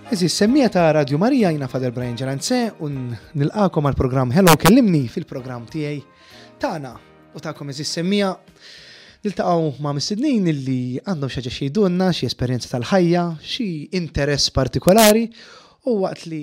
Eżis, semmija ta' Radio Marija jina Father Brian Ġeranze un nilqakom għal programm Hello Kellimni fil-programm tiegħi tagħna u tagħkom eżis semmija niltaqgħu ma' mistednin illi għandhom xi ħaġa xi jgħidulna, xi esperjenza tal-ħajja, xi interess partikolari u waqt li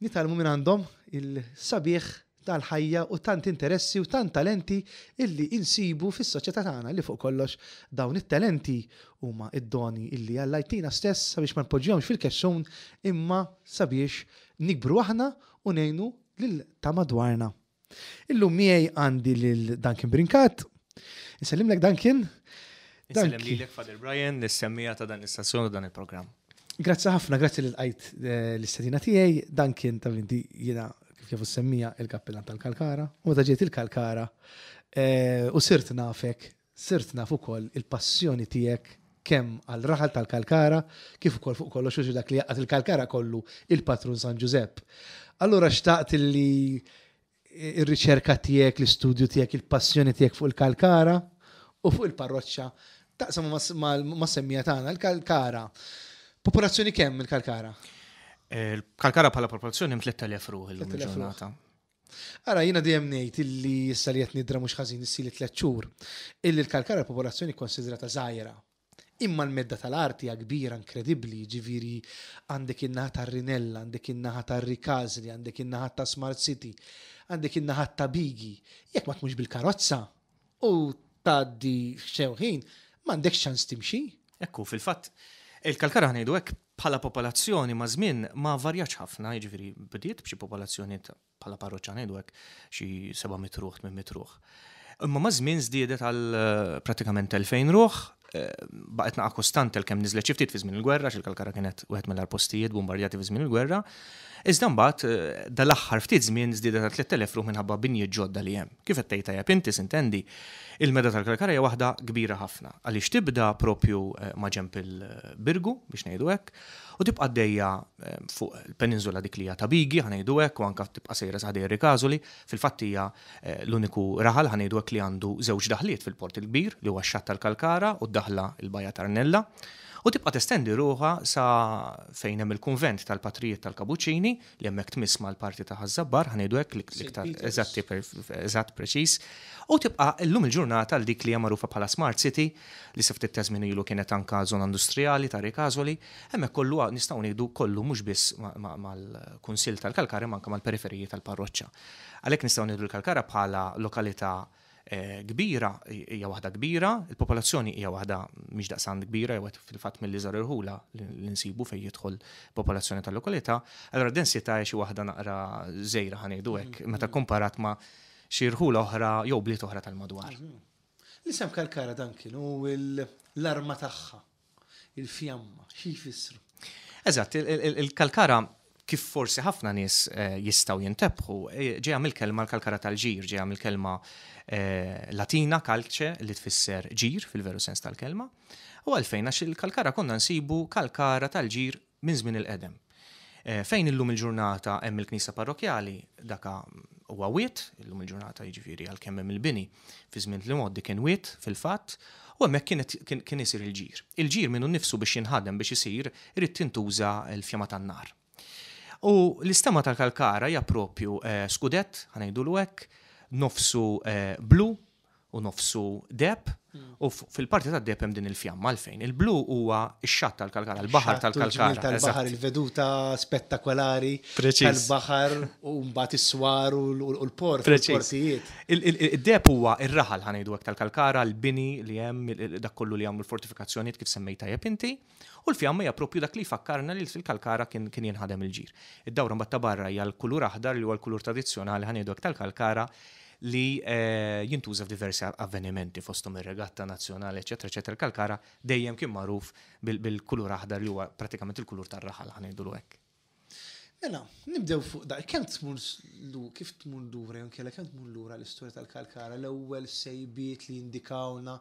nitgħallmu minn għandhom il-sabiħ tal-ħajja u tant interessi u tant talenti illi insibu fis-soċjetà tagħna li fuq kollox dawn it-talenti huma id-doni illi Alla jtina stess sabiex ma npoġġihomx fil-kexxun imma sabiex nikbru aħna u ngħinu lil ta' madwarna. Illum miegħi għandi lil Duncan Brincat. Insellimlek Duncan. Insellem lilek Father Brian, lis-semmija ta' dan l-istazzjon u dan il-programm. Grazzi ħafna, grazzi li lqajt eh, l-istedina tiegħi. Dan kien ta' inti jiena kif jafu semmija il-kappillan tal-Kalkara. U meta ġejt il-Kalkara eh, u sirt nafek, sirt naf ukoll il-passjoni tiegħek kemm għal raħal tal-Kalkara, kif ukoll fuq kollox u dak li jaqgħad il-Kalkara kollu il-patrun San Ġużepp. Allura xtaqt li ir-riċerka tiegħek, l-istudju tiegħek, il-passjoni tiegħek fuq il-Kalkara u fuq il-parroċċa taqsam ma' semmija tagħna, il-Kalkara. Popolazzjoni kemm il-Kalkara? Il-Kalkara bħala popolazzjoni 3000 ruħ illum il-ġurnata. Ara, jiena dejjem ngħid illi issa li qed nidra mhux ħażin issili tliet xhur, illi l-Kalkara popolazzjoni konsidrata żgħira. Imma l-medda tal-art hija kbira inkredibbli, ġifieri għandek in-naħa tar-Rinella, għandek in-naħa tar-Rikasli, għandek in-naħa ta' Smart City, għandek in-naħa ta' Bigi. Jekk ma tmux bil-karozza u tgħaddi xew ħin, m'għandekx ċans timxi. Ekku, fil-fatt, il-Kalkara ngħidu hekk bħala popolazzjoni ma' żmien ma varjax ħafna, jiġifieri bdiet b'xi popolazzjoni bħala parroċċa ngħidu hekk xi 700 ruħ, 800 ruħ. Imma ma' żmien żdiedet għal eh, pratikament 2000 ruħ, eh, baqgħet naqa' kostante l kemm niżlet xi ftit fi żmien il-gwerra, x'il-Kalkara kienet wieħed mill postijiet bombardjati fi żmien il-gwerra. Iżda mbagħad eh, dal-aħħar ftit żmien żdiedet għal 3000 ruħ minħabba binjiet ġodda li hemm. Kif qed tgħid tajjeb inti sintendi, il-meda tal-Kalkara hija waħda kbira ħafna għaliex tibda propju ma' ġenb il-Birgu biex ngħidu hekk u tibqa' għaddejja fuq il-peninsula dik li hija ta' Bigi, ħa ngħidu hekk, u anke tibqa' sejra sa ħdejn Rikasoli. Fil-fatt hija eh, l-uniku raħal ħa ngħidu hekk li għandu żewġ daħliet fil-Port il-Kbir, li huwa x-xatt tal-Kalkara u d-daħla il-Bajja Tarnella. U tibqa' testendi ruħha sa fejn hemm il-kunvent tal-Patrijiet tal-Kabuċini, li hemmhekk tmiss mal-parti ta' Ħaż-Żabbar, ħa ngħidu hekk l-iktar eżatti eżatt preċiż. U tibqa' llum il-ġurnata għal dik li hija magħrufa bħala Smart City, li sa ftit ta' żmien ilu kienet anka żona industrijali ta' Rikasoli, Hemmhekk kollu nistgħu ngħidu kollu mhux biss mal-Kunsill tal-Kalkara imma anke mal-periferiji tal-parroċċa. Għalhekk nistgħu ngħidu l-Kalkara bħala lokalità eh, kbira hija waħda kbira, il-popolazzjoni hija waħda mhix daqsant kbira jew fil-fatt mill-iżgħar irħula li nsibu fejn jidħol popolazzjoni tal-lokalità, allura densità hija xi waħda naqra żejra ħa ngħidu hekk mm. meta komparat ma' xi rħula oħra jew bliet oħra tal-madwar. Mm. L-isem Kalkara dan kienu l-arma tagħha il-fjamma, xi jfissru? Eżatt, il-kalkara kif forsi ħafna nies eh, jistgħu jintebħu, eh, ġejja mill-kelma l-kalkara tal-ġir, ġejja mill-kelma eh, Latina calce li tfisser ġir fil-veru sens tal-kelma. U għalfejn għax il-kalkara konna nsibu kalkara tal-ġir minn żmien il-qedem. Eh, fejn illum il-ġurnata hemm il-knisja parrokjali, daka huwa wied, illum il-ġurnata jiġifieri għalkemm hemm il-bini, fi żmien li mgħoddi kien wied fil-fatt, u hemmhekk kien kien isir il-ġir. Il-ġir minnu nnifsu biex jinħadem biex isir irid tintuża l-fjama tan-nar. U l-istemma tal-kalkara hija propju eh, skudett, ħa ngħidulu hekk, nofsu eh, blu, u nofsu deheb u fil-parti tad-deheb hemm din il-fjamma għalfejn. Il-blu huwa x-xatt tal-Kalkara, il-baħar tal-Kalkara. Tal-baħar, il-veduta spettakolari tal-baħar u mbagħad is-swar u l-port, il-portijiet. Id-deheb huwa r-raħal ħa ngħidu hekk tal-Kalkara, l-bini li hemm, dak kollu li għamlu l-fortifikazzjonijiet kif semmejt tajjeb inti. U l-fjamma hija propju dak li jfakkarna li fil-Kalkara kien jinħadem il-ġir. Id-dawra mbagħad ta' barra hija l-kulur aħdar li huwa l-kulur tradizzjonali ħa ngħidu hekk tal-Kalkara li eh, jintuża f'diversi avvenimenti fosthom ir-regatta nazzjonali, eċetera, eċetera. Il-Kalkara dejjem kien magħruf bil-kulur aħdar li huwa pratikament il-kulur tar-raħal ħa ngħidulu hekk. Mela, nibdew fuq da, kemm tmur kif tmur lura jew inkella kemm tmur lura l-istorja tal-Kalkara, l-ewwel sejbiet li jindikawna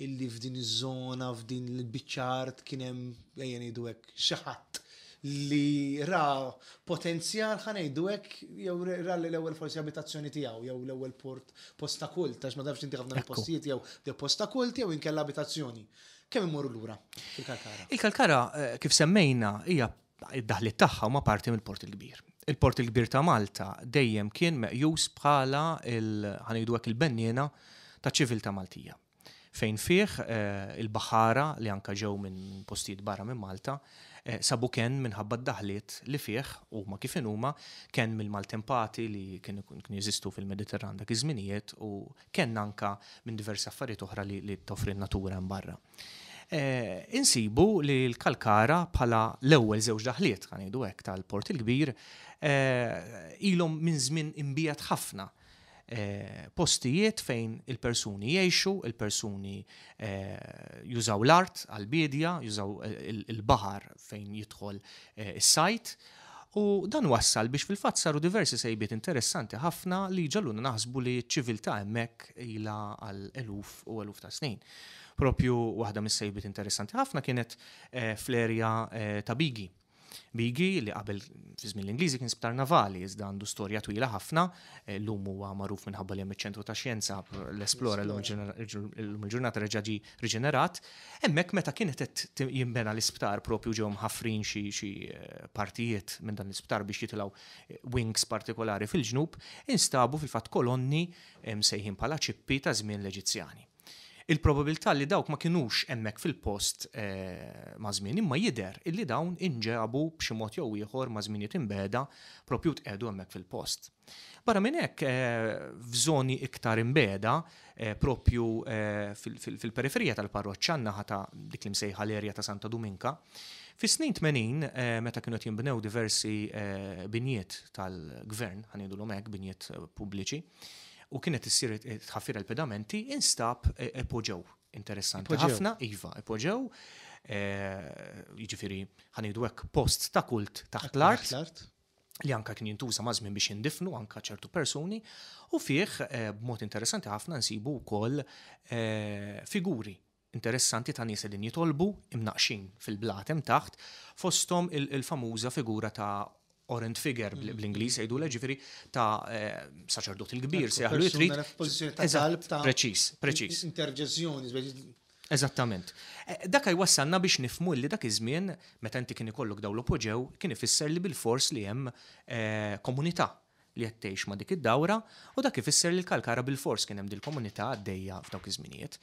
illi f'din iż-żona, f'din il-biċċa art kien hemm ejja ngħidu hekk xi ħadd li ra potenzjal ħa ngħidu hekk jew ra l-ewwel forsi abitazzjoni tiegħu jew l-ewwel port post ta' kult għax ma tafx inti ħafna postijiet jew post ta' kult jew inkella abitazzjoni. Kemm imorru lura il-Kalkara? Il-Kalkara eh, kif semmejna hija Id-daħliet tagħha huma parti mill-Port il-Kbir. Il-Port il-Kbir ta' Malta dejjem kien meqjus bħala ħa ngħidu hekk il-benniena taċ-ċiviltà Maltija. Fejn fih il-baħħara li anke ġew minn postijiet barra minn Malta sabu kenn minħabba d-daħliet li fih huma kif inhuma, kenn mill-maltempati li kienu jeżistu fil-Mediterran dak iż-żminijiet u kenn anke minn diversi affarijiet oħra li toffri n-natura hemm barra. Insibu li l-Kalkara bħala l-ewwel żewġ daħliet, ħa ngħidu hekk, tal-Port il-Kbir ilhom minn żmien imbiegħed ħafna postijiet fejn il-persuni jgħixu, il-persuni jużaw l-art għall-biedja, jużaw il-baħar fejn jidħol is-sajd. U dan wassal biex fil-fatt saru diversi sejbiet interessanti ħafna li ġagħluna naħsbu li ċ-ċiviltà hemmhekk ilha għal eluf u eluf ta' snin. Propju waħda mis-sejbiet interessanti ħafna kienet fl-erja ta' Bigi. Bigi li qabel fi żmien l-Ingliżi kien sptar navali iżda għandu storja twila ħafna, llum huwa magħruf minħabba li hemm iċ-ċentru ta' xjenza l-Esplora llum il-ġurnata reġa' ġie riġenerat. Hemmhekk meta kienet qed jinbena l-isptar propju ġew mħaffrin xi partijiet minn dan l-isptar biex jitilgħu wings partikolari fil-ġnub, instabu fil-fatt kolonni msejħin bħala ċippi ta' żmien l-Eġizzjani. Il-probabilità li dawk ma kinux hemmhekk fil-post maż-żmien imma jidher illi dawn inġabu b'xi mod jew ieħor ma' żminijiet imbiegħda propju tqiegħdu hemmhekk fil-post. Barra minn hekk f'żoni iktar imbiegħda propju fil-periferija tal-parroċċa n-naħa ta' dik li msejħa l-erja ta' Santa Duminka, fis-snin 80 meta kienu qed jinbnew diversi binjiet tal-gvern, ħa ngħidulhom hekk, binjiet pubbliċi, u kienet issir tħaffir il-pedamenti, instab epoġew interessanti ħafna, iva, epoġew, jiġifieri ħa ngħidu hekk post ta' kult taħt l-art li anka kien jintuża ma' żmien biex jindifnu anka ċertu persuni u fih b'mod interessanti ħafna nsibu wkoll figuri interessanti ta' nies qegħdin jitolbu, imnaqqxin fil-blat hemm taħt, fosthom il-famuża figura ta' orant figure bl-Ingliż jgħidulha, ġifieri ta' saċerdot il-kbir, sejjaħlu li trid. F'pożizzjoni ta' talb ta' Preċiż, preċiż. Interġezzjoni. Eżattament. Dak jwassalna biex nifhmu li dak iż-żmien meta inti kien ikollok dawn l-opoġew kien ifisser li bilfors li hemm komunità li qed tgħix ma' dik id-dawra u dak ifisser li l-Kalkara bilfors kien hemm dil-komunità għaddejja f'dawk iż-żminijiet.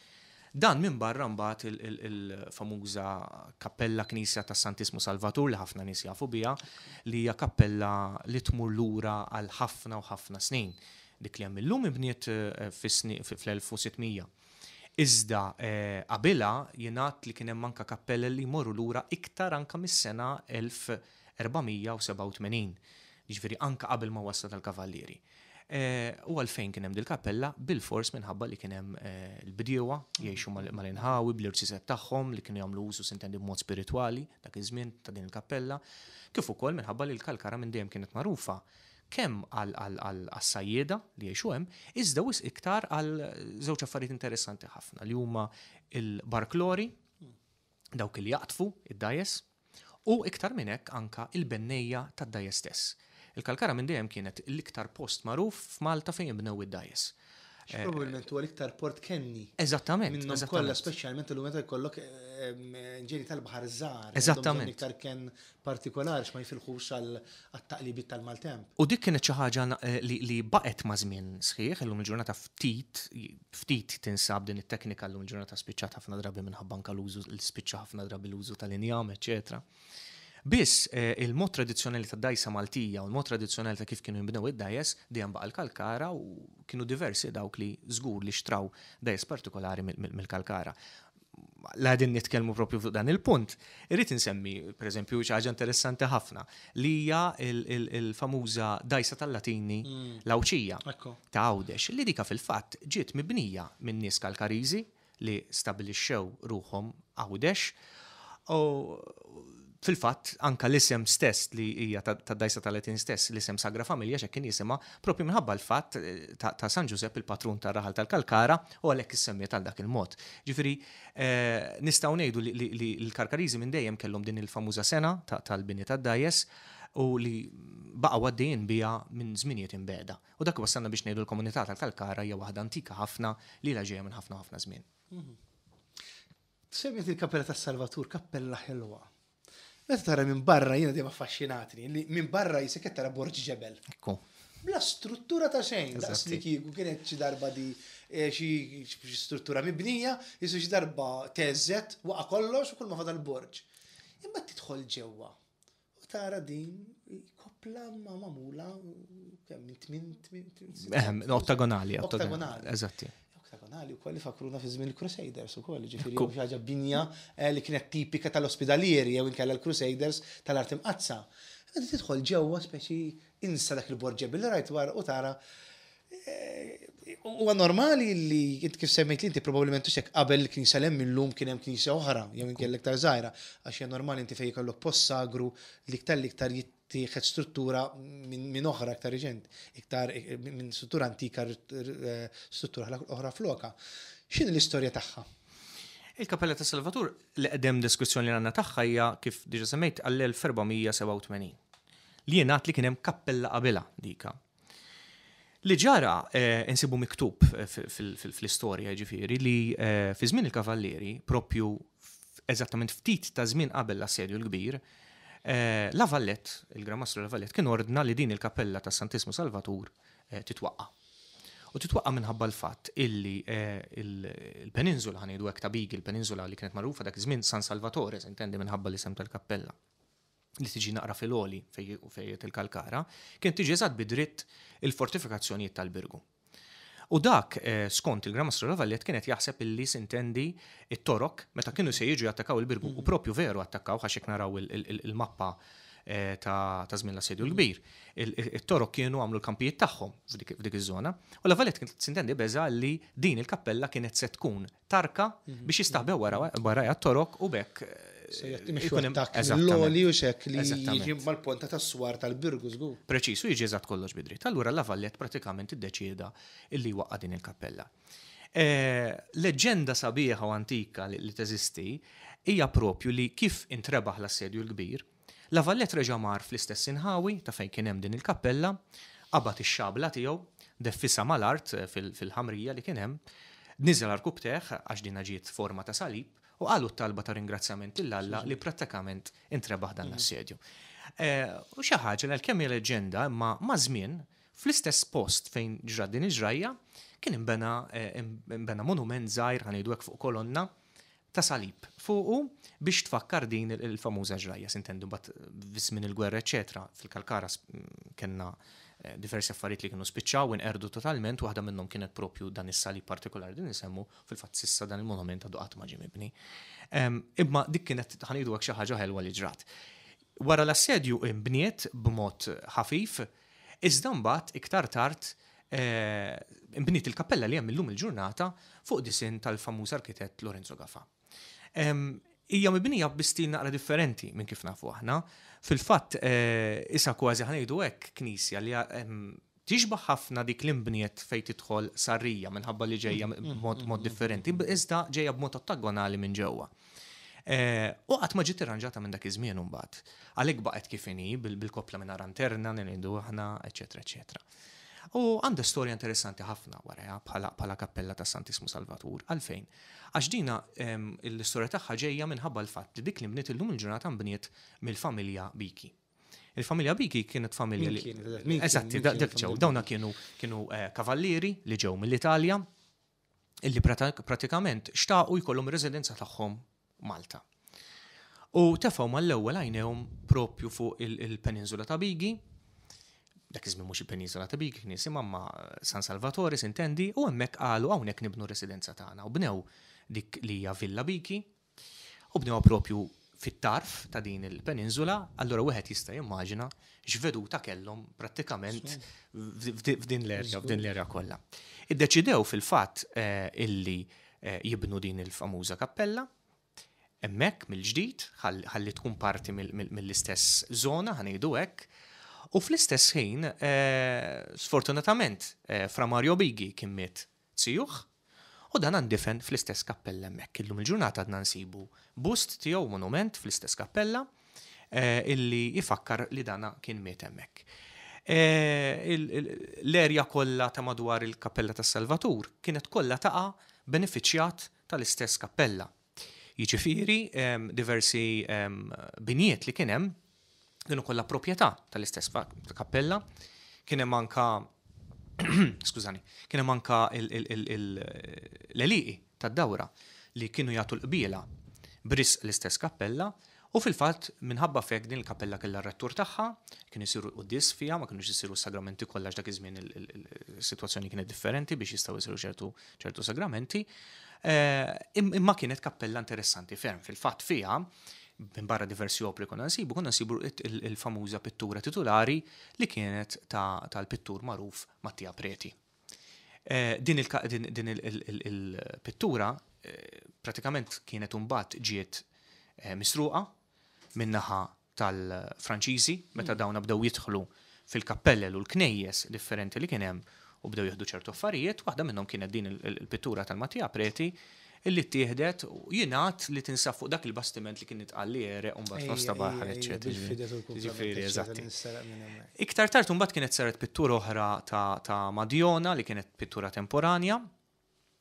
Dan minbarra mbagħad il-famuża kappella knisja tas-Santissmu Salvatur li ħafna nies jafu biha, li hija kappella li tmur lura għal ħafna u ħafna snin. Dik li hemm illum inbniet fl-1600. Iżda qabilha jingħad li kien hemm anke kappelle li jmorru lura iktar anke mis-sena 1487. Jiġifieri anke qabel ma waslet għall-Kavallieri. U għalfejn kien hemm dil-kappella? Bilfors minħabba li kien hemm il-bdiewa jgħixu mal-inħawi bl-irziezet tagħhom li kienu jagħmlu użu sintendi b'mod spiritwali dak iż-żmien ta' din il-kappella, kif ukoll minħabba li l-Kalkara minn dejjem kienet magħrufa kemm għas-sajjieda li jgħixu hemm, iżda wisq iktar għal żewġ affarijiet interessanti ħafna li huma l-barklori, dawk li jaqdfu id-dgħajjes, u iktar minn hekk anka il-bennejja tad-dgħajjes stess. Il-Kalkara minn dejjem kienet l-iktar post magħruf f'Malta fejn jinbnew id-dgħajjes. Probabbilment huwa l-iktar port kenni. Eżattament. Minnhom kollha, speċjalment illum meta jkollok ġeni tal-baħar żgħar. Eżattament. Iktar kenn partikolari x'ma jifilħux għat-taqlibiet tal-maltemp. U dik kienet xi ħaġa li baqgħet ma' żmien sħiħ, illum il-ġurnata ftit ftit tinsab din it-teknika llum il-ġurnata spiċċat ħafna drabi minħabba anke l-użu li spiċċa ħafna drabi l-użu tal-injam, eċetera. Biss il-mod tradizzjonali tad-dgħajsa Maltija u l-mod tradizzjonali ta' kif kienu jinbnew id-dgħajjes dejjem baqa' l-Kalkara u kienu diversi dawk li żgur li xtraw dgħajjes partikolari mill-Kalkara. La qegħdin nitkellmu propju fuq dan il-punt, irrid insemmi pereżempju xi ħaġa interessanti ħafna li hija il-famuża dgħajsa tal-Latini l-Għawdxija ta' Għawdex li dika fil-fatt ġiet mibnija minn nies Kalkariżi li stabilixxew ruħhom Għawdex u fil-fatt anka l-isem stess li hija tad-dgħajsa tal-Latin stess, l-isem Sagra Familja x'hekk kien jisimha, propju minħabba l-fatt ta' San Ġużepp il-patrun tar-raħal tal-Kalkara u għalhekk issemmiet għal dak il-mod. Ġifieri nistgħu ngħidu li l-Karkariżi minn dejjem kellhom din il-famuża sena tal-bini tad-dgħajjes u li baqgħu għaddejjin biha minn żminijiet imbiegħda. U dak iwassalna biex ngħidu l-komunità tal-Kalkara hija waħda antika ħafna li ilha ġejja minn ħafna u ħafna żmien. Semmejt il-Kappella tas-Salvatur, kappella ħelwa. Meta tara minn barra jiena dejjem affaxxinatni li minn barra jisek qed tara borġ ġebel. Ekku. Bla struttura ta' xejn, daqs li kieku kienet xi darba di eh, xi struttura mibnija, jisu xi darba teżet, waqa' kollox u kull ma fadal borġ. Imma tidħol ġewwa u tara din koppla ma magħmula kemm minn tmien tmien Ehm, ottagonali, ottagonali. Eżatti. Oktagonali wkoll ifakruna fi żmien il-Crusaders ukoll, ġifieri xi ħaġa binja eh, li kienet tipika tal-ospidalieri jew inkella l-Crusaders tal-art imqaddsa. Meta tidħol ġewwa speċi insa dak il-borġeb li rajt wara u tara eh, huwa normali li int kif semmejt li inti probabbilment hekk qabel il-knisja l-hemm illum kien hemm knisja oħra jew inkella iktar żgħira għax hija normali inti fejn jkollok post sagru li iktar l-iktar jittieħed struttura minn oħra iktar riċenti, iktar minn struttura antika struttura oħra floka. X'inhi l-istorja tagħha? Il-Kappella ta' Salvatur l-eqdem deskrizzjoni li għandna tagħha hija kif diġà semmejt għall-1487. Li jingħad li kien hemm kappella qabilha dika. Li ġara eh, insibu miktub eh, fl-istorja ġifieri li eh, fi żmien il-Kavallieri, propju eżattament ftit ta' żmien qabel l-assedju l-kbir, La Valette, il-Gran Mastru La Valette, kien ordna li din il-kappella ta' Santismu Salvatur titwaqqa'. U titwaqqa' minħabba l-fatt illi il-peninsula, ħa ngħidu hekk ta' Bigi, il-peninsula li kienet magħrufa dak iż-żmien San Salvatore, intendi minħabba l-isem tal-kappella, li tiġi naqra fil-għoli fejn qiegħed il-Kalkara, kienet tiġi eżatt bi dritt il-fortifikazzjonijiet tal-Birgu. U dak, skont il-Gran Mastru La Valette, kien qed jaħseb illi, sintendi, it-Torok, meta kienu se jiġu jattakaw il-Birgu, u propju veru attakkawh għax jekk naraw il-mappa ta' żmien l-Assedju l-Kbir, it-Torok kienu għamlu l-kampijiet tagħhom f'dik iż-żona. U La Valette kien, sintendi, beża' li din il-kappella kienet se tkun tarka biex jistaħbew warajha t-Torok u b'hekk Se jimxu attakk mill-għoli u xek li jiġi mal-ponta tas-swar tal-Birgu żgur. Preċiż, u jiġi eżatt kollox bi dritt. Allura La Valette pratikament iddeċieda illi jwaqqa' din il-kappella. Leġġenda sabiħa u antika li teżisti hija propju li kif intrebaħ l-Assedju l-Kbir, La Valette reġa' mar fl-istess inħawi ta' fejn kien hemm din il-kappella, qabad ix-xabla tiegħu, deffisha mal-art fil-ħamrija li kien hemm, niżel għarkupptejh, għax dinha ġiet forma ta' salib, u qalu t-talba ta' ringrazzjament lil Alla li prattikament intrebaħ dan l-assedju. U xi ħaġa li għalkemm hija leġġenda imma maż-żmien, fl-istess post fejn ġrat din il-ġrajja, kien inbena inbena monument żgħir, ħa ngħidu hekk fuq kolonna, ta' salib fuqu biex tfakkar din il-famuża ġrajja, sintendi mbagħad fi żmien il-gwerra eċċetera, fil-Kalkara kellna eh, diversi affarijiet li kienu spiċċaw inqerdu totalment, waħda minnhom kienet propju dan is-salib partikolari din insemmu, fil-fatt sissa dan il-monument għadu qatt ma ġie mibni. Imma dik kienet ħanidu hekk xi ħaġa ħelwa li ġrat. Wara l-assedju imbniet b'mod ħafif, iżda mbagħad iktar tard Inbniet il-kappella li hemm illum il-ġurnata fuq disinn tal-famuż arkitett Lorenzo Gafà. Hija mibnija bi stil naqra differenti minn kif nafu aħna. Fil-fatt, isa kważi ħa ngħidu hekk knisja li tixbah ħafna dik li nbniet fejn tidħol Sarrija minħabba li ġejja b'mod differenti, iżda ġejja b'mod ottagonali minn ġewwa. U qatt ma ġiet irranġata minn dak iż-żmien imbagħad. Għalhekk baqgħet kif inhi bil-koppla mingħajr anterna li ngħidu aħna, eċċetera, eċċetera. U għandha storja interessanti ħafna warajha bħala kappella ta' Santismu Salvatur. Għalfejn? Għax dina l-istorja tagħha ġejja minħabba l-fatt li dik li nbniet illum il-ġurnata nbniet mill-familja Biki. Il-familja Biki kienet familja li. Eżatti, dak ġew. Dawna kienu kienu kavallieri li ġew mill-Italja illi pratikament xtaqu jkollhom ir-residenza tagħhom Malta. U tefgħu mal-ewwel għajnejhom propju fuq il-peninsula ta' Bigi, dak iż-żmien mhux il-peninsula ta' Bigi kien jisimha ma San Salvatore sintendi, u hemmhekk qalu hawnhekk nibnu r-residenza tagħna u bnew dik li hija Villa Bigi u bnewha propju fit-tarf ta' din il-peninsula, allura wieħed jista' jimmaġina x'veduta kellhom prattikament f'din l-erja, f'din l-erja kollha. Iddeċidew fil-fatt eh, illi eh, jibnu din il-famuża kappella, hemmhekk mill-ġdid, ħalli tkun parti mill-istess żona, ħanejdu hekk, u fl-istess ħin, eh, sfortunatament, Fra Mario Bigi kien miet zijuh, u dan ndifen fl-istess kappella hemmhekk. Illum il-ġurnata għadna nsibu bust tiegħu, monument fl-istess kappella, illi jfakkar li dana kien miet hemmhekk. L-erja kollha ta' madwar il-Kappella tas-Salvatur kienet kollha taqa' benefiċjat tal-istess kappella. Jiġifieri diversi binjiet li kien hemm kienu kollha proprjetà tal-istess kappella, kien hemm anka skużani, kien hemm anka l-għelieqi tad-dawra li kienu jagħtu l-qbiela b'risq l-istess kappella u fil-fatt minħabba f'hekk din il-kappella kellha r-rettur tagħha, kienu jsiru l-quddies fiha, ma kinux isiru s-sagramenti kollha għax dak iż-żmien is-sitwazzjoni kienet differenti biex jistgħu jsiru ċertu ċertu sagramenti. Imma kienet kappella interessanti ferm. Fil-fatt fiha minn barra diversi opri konna nsibu, konna nsibu il-famuża pittura titulari li kienet tal-pittur magħruf Mattia Preti. Din il-pittura pratikament kienet imbagħad ġiet misruqa min-naħa tal-Franċiżi meta dawna bdew jidħlu fil-kappellel u l-knejjes differenti li kien hemm u bdew jieħdu ċertu affarijiet, waħda minnhom kienet din il-pittura tal-Mattia Preti illi ttieħdet u jingħad li tinsab fuq dak il-bastiment li kien intqal li għereq u mbagħad f'nofs ta' baħar, eċċetera. Ġifieri, eżatti. Iktar tard imbagħad kienet saret pittura oħra ta' Madjona li kienet pittura temporanja.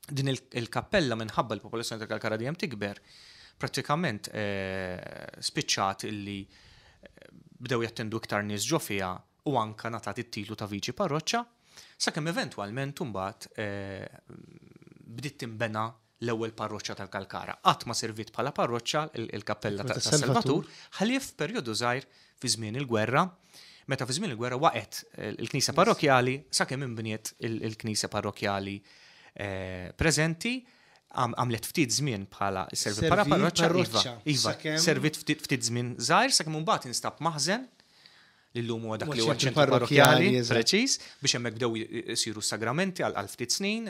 Din il-kappella minħabba l-popolazzjoni ta' Kalkara dejjem tikber, prattikament spiċċat illi bdew jattendu iktar nies ġo fiha u anka ngħatat it-titlu ta' viċi parroċċa, sakemm eventwalment imbagħad bdiet tinbena l-ewwel parroċċa tal-Kalkara. Qatt ma serviet bħala parroċċa il-kappella ta' Salvatur, ħlief perjodu żgħir fi żmien il-gwerra, meta fi żmien il-gwerra waqgħet il-knisja parrokkjali sakemm inbniet il-knisja parrokkjali preżenti, għamlet ftit żmien bħala servit bħala parroċċa, iva, iva, servit ftit żmien żgħir sakemm imbagħad instab maħżen li llum huwa dak li huwa ċentru parrokkjali, preċiż, biex hemmhekk bdew isiru s-sagramenti għal ftit snin,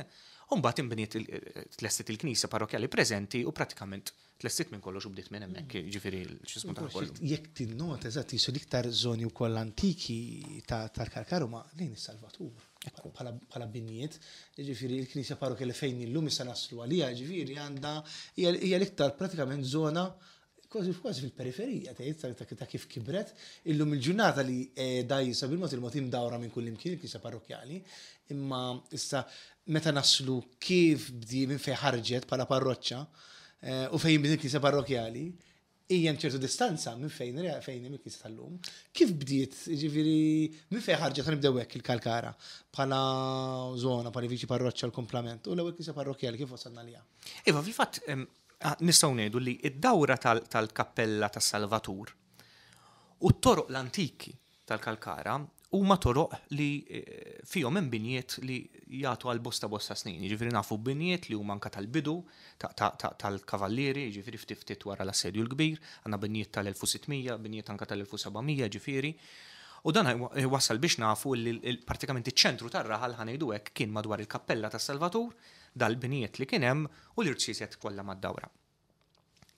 u mbagħad inbniet tlestit il-knisja parrokkjali preżenti u pratikament tlestit minn kollox u bdiet minn hemmhekk, jiġifieri x'ismu ta' kollu. Jekk tinnota eżatt jisu l-iktar żoni wkoll antiki tal-Kalkar huma lejn is-Salvatur bħala binjiet, jiġifieri l-knisja parrokkjali fejn illum issa naslu għaliha, jiġifieri għandha hija l-iktar pratikament żona Kważi kważi fil-periferija tgħid ta' kif kibret, illum il-ġurnata li qiegħda issa bil-mod il-mod imdawra minn kullimkien il-knisja parrokkjali, imma issa meta naslu kif bdi minn fejn ħarġet bħala parroċċa u fejn inbniet il-knisja parrokkjali, hija hemm ċertu distanza minn fejn fejn hemm il-knisja tal-lum. Kif bdiet, jiġifieri minn fejn ħarġet ħa nibdew hekk il-Kalkara bħala żona, bħala viċi parroċċa l-kumplament u l-ewwel knisja parrokkjali kif wasalna għaliha? Iva, fil-fatt Nistgħu ngħidu li d-dawra tal-kappella tas-Salvatur u t-toroq l-antiki tal-Kalkara huma toroq li fihom hemm binjiet li jagħtu għal bosta bosta snin. Jiġifieri nafu binjiet li huma anke tal-bidu tal-Kavallieri, jiġifieri ftit ftit wara l-Assedju l-Kbir, għandna binjiet tal-1600, binjiet anke tal-1700, jiġifieri. U dan iwassal biex nafu li pratikament iċ-ċentru tar-raħal, ħa ngħidu hekk, kien madwar il-kappella tas-Salvatur, dal-binjiet li kien hemm u l-irċieset kollha mad-dawra.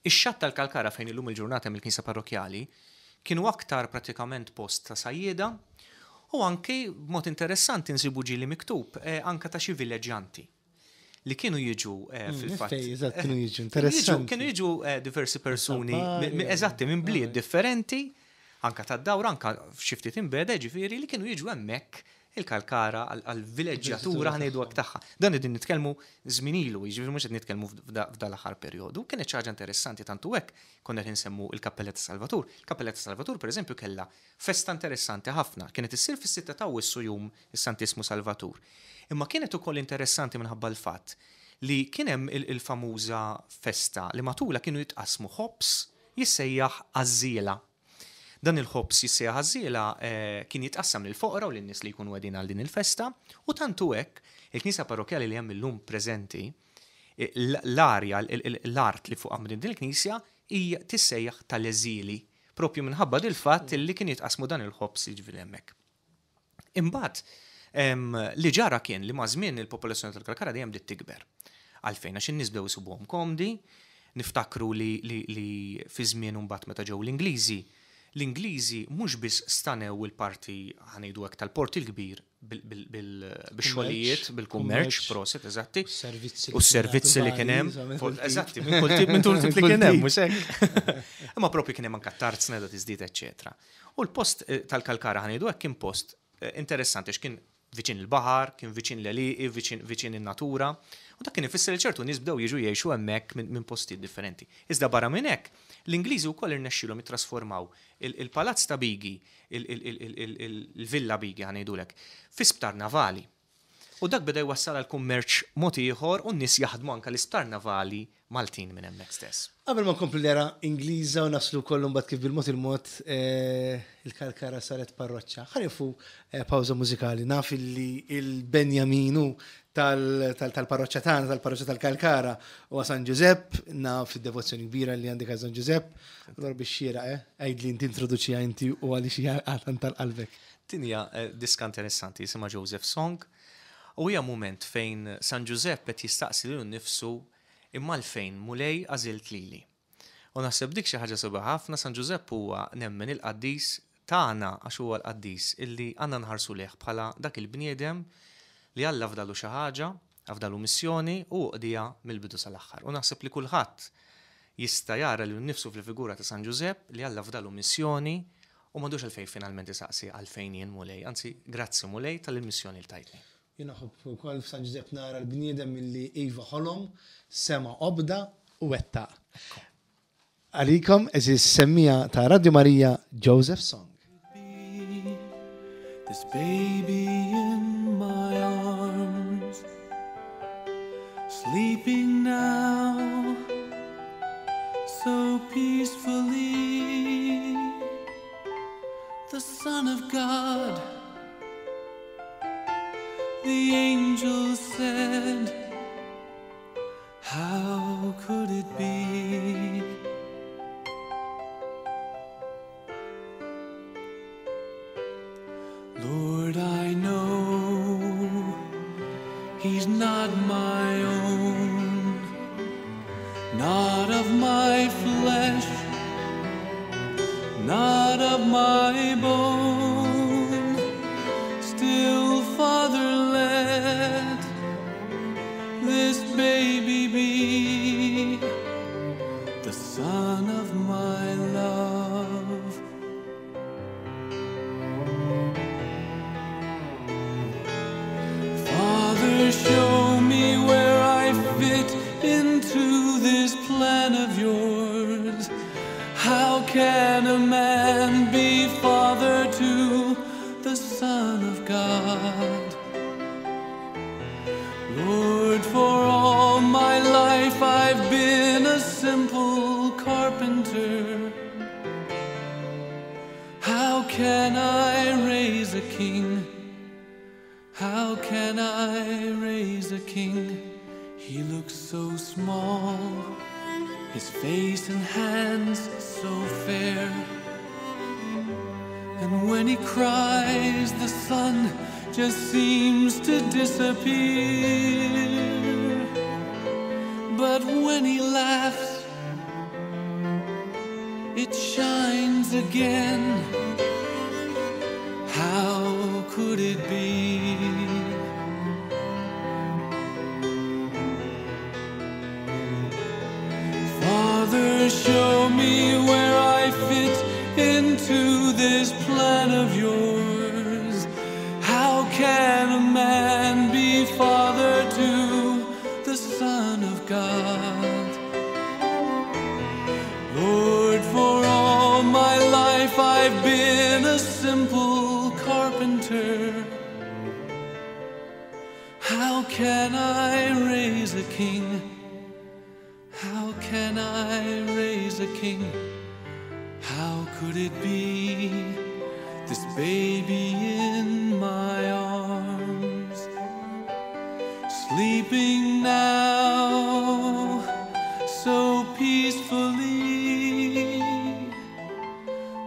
Ix-xatt tal-Kalkara fejn illum il-ġurnata hemm il-knisja parrokkjali kienu aktar pratikament post ta' sajjieda u anki b'mod interessanti nsibu ġieli miktub anke ta' xi villeġġjanti li kienu jiġu fil-fatt. Eżatt, kienu jiġu, interessanti. Kienu jiġu diversi persuni, eżatti, minn bliet differenti, anke tad-dawra, anke xi ftit imbegħda, jiġifieri li kienu jiġu hemmhekk il-Kalkara għall-vileġġjatura ħa ngħidu hekk tagħha. Dan qegħdin nitkellmu żmien ilu, jiġifieri mhux qed nitkellmu f'dal-aħħar perjodu. Kienet xi ħaġa interessanti tant hu hekk konna qed insemmu l-Kappella ta' Salvatur. Il-Kappella ta' Salvatur pereżempju kellha festa interessanti ħafna. Kienet issir fis-sitta ta' Awwissu jum is-Santissmu Salvatur. Imma kienet ukoll interessanti minħabba l-fatt li kien hemm il-famuża festa li matulha kienu jitqassmu ħobż jissejjaħ għażżiela. Dan il-ħobż jissejjaħ għażżiela kien jitqassam lill-foqra u lin-nies li jkunu qegħdin għal din il-festa u tant hu hekk, il-knisja parrokkjali li hemm illum preżenti, l-arja, l-art li fuqha nbniet din il-knisja hija tissejjaħ tal-eżili, proprju minħabba dil-fatt li kien jitqassmu dan il-ħobż jiġifieri hemmhekk. Imbagħad, li ġara kien li maż-żmien il-popolazzjoni tal-Kalkara dejjem bdiet tikber. Għalfejn? Għax in-nies bdew isibuhom komdi, niftakru li li fi żmien imbagħad meta ġew l-Ingliżi, l-Ingliżi mhux biss stanew il-parti, ħa ngħidu hekk, tal-Port il-Kbir bil-xogħlijiet, bil-kummerċ, proset, eżatti. U s-servizzi li kien hemm. Eżatti, minn kull tip, minn kull tip li kien hemm, mhux hekk. Imma propju kien hemm anke t-tarzna da tiżdied, eċċetera. U l-post tal-Kalkara ħa ngħidu hekk kien post interessanti għax kien viċin il-baħar, kien viċin l-għelieqi, viċin viċin in-natura, u dak kien ifisser li ċertu nies bdew jiġu jgħixu hemmhekk minn postijiet differenti. Iżda barra minn hekk, l-Ingliżi wkoll irnexxielhom jittrasformaw il-palazz ta' Bigi, il-Villa Bigi ħa ngħidulek, fi sptar navali. U dak beda jwassal għal kummerċ mod ieħor u n-nies jaħdmu anke l-isptar navali Maltin minn hemmhekk stess. Qabel ma nkomplu l-era Ingliża u naslu wkoll imbagħad kif bil-mod il-mod il-Kalkara saret parroċċa, ħa nieqfu pawża mużikali. Naf illi il-Benjaminu tal-parroċċa tagħna, tal-parroċċa tal-Kalkara, huwa San Ġużepp, naf id-devozzjoni kbira li għandek għal San Ġużepp. Allura biex xieraq, eh? Għidli inti introduċiha inti u għaliex hija tant tal-qalbek. Din hija diska interessanti jisimha Joseph Song u hija mument fejn San Ġużepp qed jistaqsi lilu nnifsu imma għalfejn Mulej għażilt lili? U naħseb dik xi ħaġa sabiħa ħafna, San Ġużepp huwa nemmen il-qaddis tagħna għax huwa l-qaddis illi għandna nħarsu lejh bħala dak il-bniedem li Alla fdalu xi ħaġa, afdalu missjoni u hu qdiha mill-bidu sal-aħħar. U naħseb li kulħadd jista' jara lilu nnifsu fil-figura ta' San Ġużepp li Alla fdalu missjoni U m'għandux għalfejn finalment isaqsi għalfejn jien Mulej, anzi grazzi Mulej tal-missjoni li tajtni. Jien nħobb ukoll f'San Ġużepp nara l-bniedem illi iva ħolom, sema' obda u wettaq. Għalikom, għeżież semmiegħa ta' Radio Marija, Joseph Song. This baby in my arms Sleeping now So peacefully The Son of God The angel said How could it be? Lord, I know he's not my own, not of my flesh, not of my bone. Still, Father, let this baby be the son of my love. Father, show me where I fit into this plan of yours. How can a man be father to the Son of God? Lord, for all my life I've been a simple carpenter. How can I raise a king? How can I raise a king? He looks so small, his face and hands so fair. And when he cries, the sun just seems to disappear. But when he laughs, it shines again. How could it be? Father, show me where I fit into this plan of yours. How can a man be father to the Son of God? Lord, for all my life I've been a simple carpenter. How can I raise a king? How can I raise a king? How could it be this baby in my arms? Sleeping now so peacefully,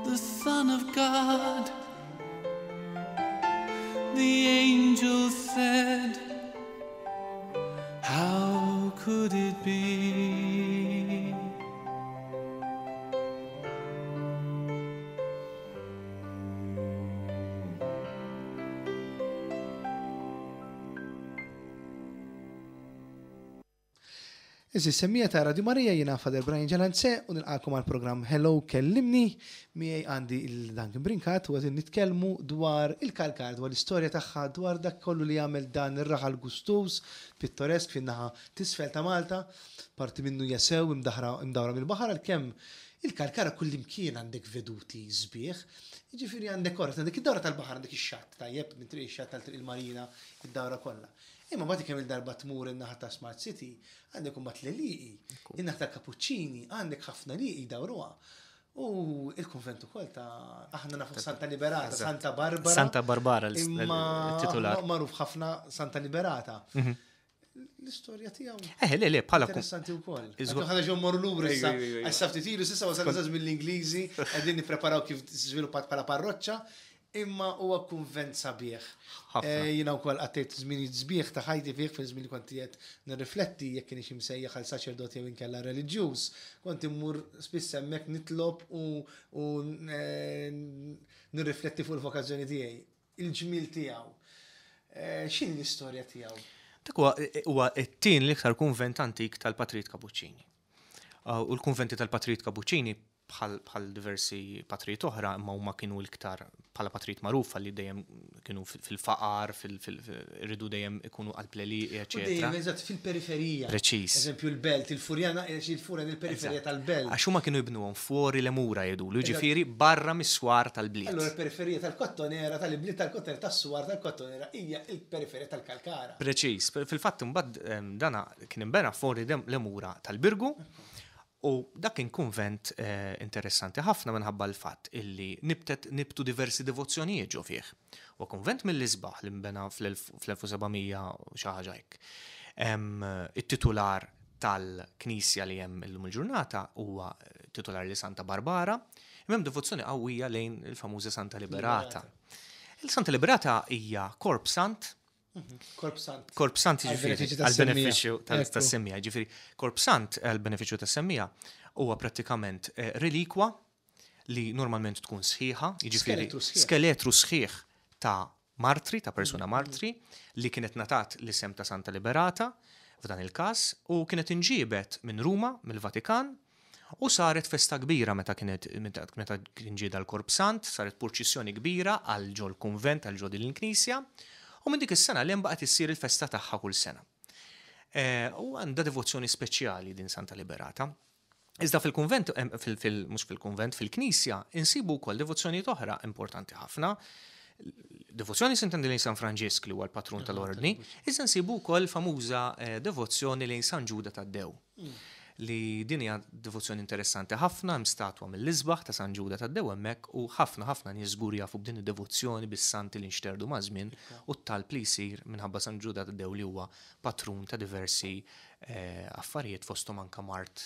the Son of God, the angel said, How could it be? Għeżież semmiegħa ta' Radio Marija jiena Father Brian Ġalanze u nilqagħkom għall-programm Hello Kellimni. Miegħi għandi il Duncan Brincat u qegħdin nitkellmu dwar il-Kalkar, dwar l-istorja tagħha, dwar dak kollu li jagħmel dan ir-raħal gustuż, pittoresk fin-naħa t'isfel ta' Malta. Parti minnu hija sew imdaħra imdawra mill-baħar għalkemm il-Kalkara kullimkien għandek veduti sbieħ. Jiġifieri għandek orret, għandek id-dawra tal-baħar, għandek ix-xatt tajjeb minn Triq ix-Xatt għal Triq il-Marina, id-dawra kollha. Imma mbagħad kemm il-darba tmur in-naħa ta' Smart City, għandek imbagħad l-għelieqi, in-naħa tal-Kapuċċini, għandek ħafna għelieqi jdawruha. U il-kunvent ukoll ta' aħna nafu Santa Liberata, Santa Barbara. Santa Barbara l-titular. Magħruf ħafna Santa Liberata. L-istorja tiegħu. Eh, le, le, bħala. Interessanti wkoll. Ħana ġew morru lura issa. Issa ftit ilu s'issa wasal żmien l-Ingliżi, qegħdin nippreparaw kif żviluppat bħala parroċċa. Imma huwa kunvent sabiħ. Eh, jiena wkoll qattejt żminijiet sbieħ ta' ħajti fih fil-żmien li kont qiegħed nirrifletti jekk kienx imsejjaħ għal saċerdot jew inkella reliġjuż. Kont immur spiss hemmhekk nitlob u, u eh, nirrifletti fuq il-vokazzjoni tiegħi, il-ġmiel tiegħu. Eh, x'inhi l-istorja tiegħu? Dak huwa t-tien l-iktar kunvent antik tal-Patrijiet Kapuċċini. U l-kunventi tal-Patrijiet Kapuċċini bħal diversi patrijiet oħra, imma huma kienu l-iktar bħala patrijiet magħrufa li dejjem kienu fil-faqar, rridu dejjem ikunu qalb l-għelieqi, eċetera. Dejjem eżatt fil-periferija. Preċiż. Eżempju l-belt, il-Furjana, il-Furjan il-periferija tal-belt. Għax huma kienu jibnuhom fuori le mura jgħidulu, jiġifieri barra mis-swar tal-bliet. Allura l-periferija tal-Kottonera, tal-ibliet tal-Kottonera, tas-swar tal-Kottonera hija l-periferija tal-Kalkara. Preċiż. Fil-fatt imbagħad dana kien inbena fuori le mura tal-Birgu. U dak kien kunvent interessanti ħafna minħabba l-fatt illi nibtet nibtu diversi devozzjonijiet ġo fih. Huwa kunvent mill-isbaħ li nbena fl-1700 u xi ħaġa hekk. It-titular tal-knisja li hemm illum il-ġurnata huwa titular li Santa Barbara, imma hemm devozzjoni qawwija lejn il-famuża Santa Liberata. Il-Santa Liberata hija korp sant Korp sant. Korp sant jiġifieri għall-benefiċċju tas-semmija. Jiġifieri korp sant għall-benefiċċju tas-semmija huwa prattikament eh, relikwa li normalment tkun sħiħa, jiġifieri skeletru sħiħ ta' martri, ta' persuna mm. martri, li kienet natat l-isem ta' Santa Liberata f'dan il-każ u kienet inġiebet minn Ruma, mill-Vatikan, U saret festa kbira meta kienet meta kien ġie dal-Korp Sant, saret purċissjoni kbira għal ġol-kunvent, għal ġo din il-knisja, u minn dik is-sena 'l hemm baqgħet issir il-festa tagħha kull sena. U għandha devozzjoni speċjali din Santa Liberata. Iżda fil-kunvent, mhux fil-kunvent, fil-knisja, insibu wkoll devozzjonijiet oħra importanti ħafna. Devozzjoni sintendi lejn San Franġisk li huwa l-patrun tal-ordni, iżda nsibu wkoll famuża devozzjoni lejn San Ġuda Taddew. Li din hija devozzjoni interessanti ħafna, hemm statwa mill-isbaħ ta' San Ġuda Taddew hemmhekk u ħafna ħafna nies żgur jafu b'din id-devozzjoni bis-santi li nxterdu maż-żmien u t-talb li jsir minħabba San Ġuda Taddew li huwa patrun ta' diversi affarijiet fosthom anke mard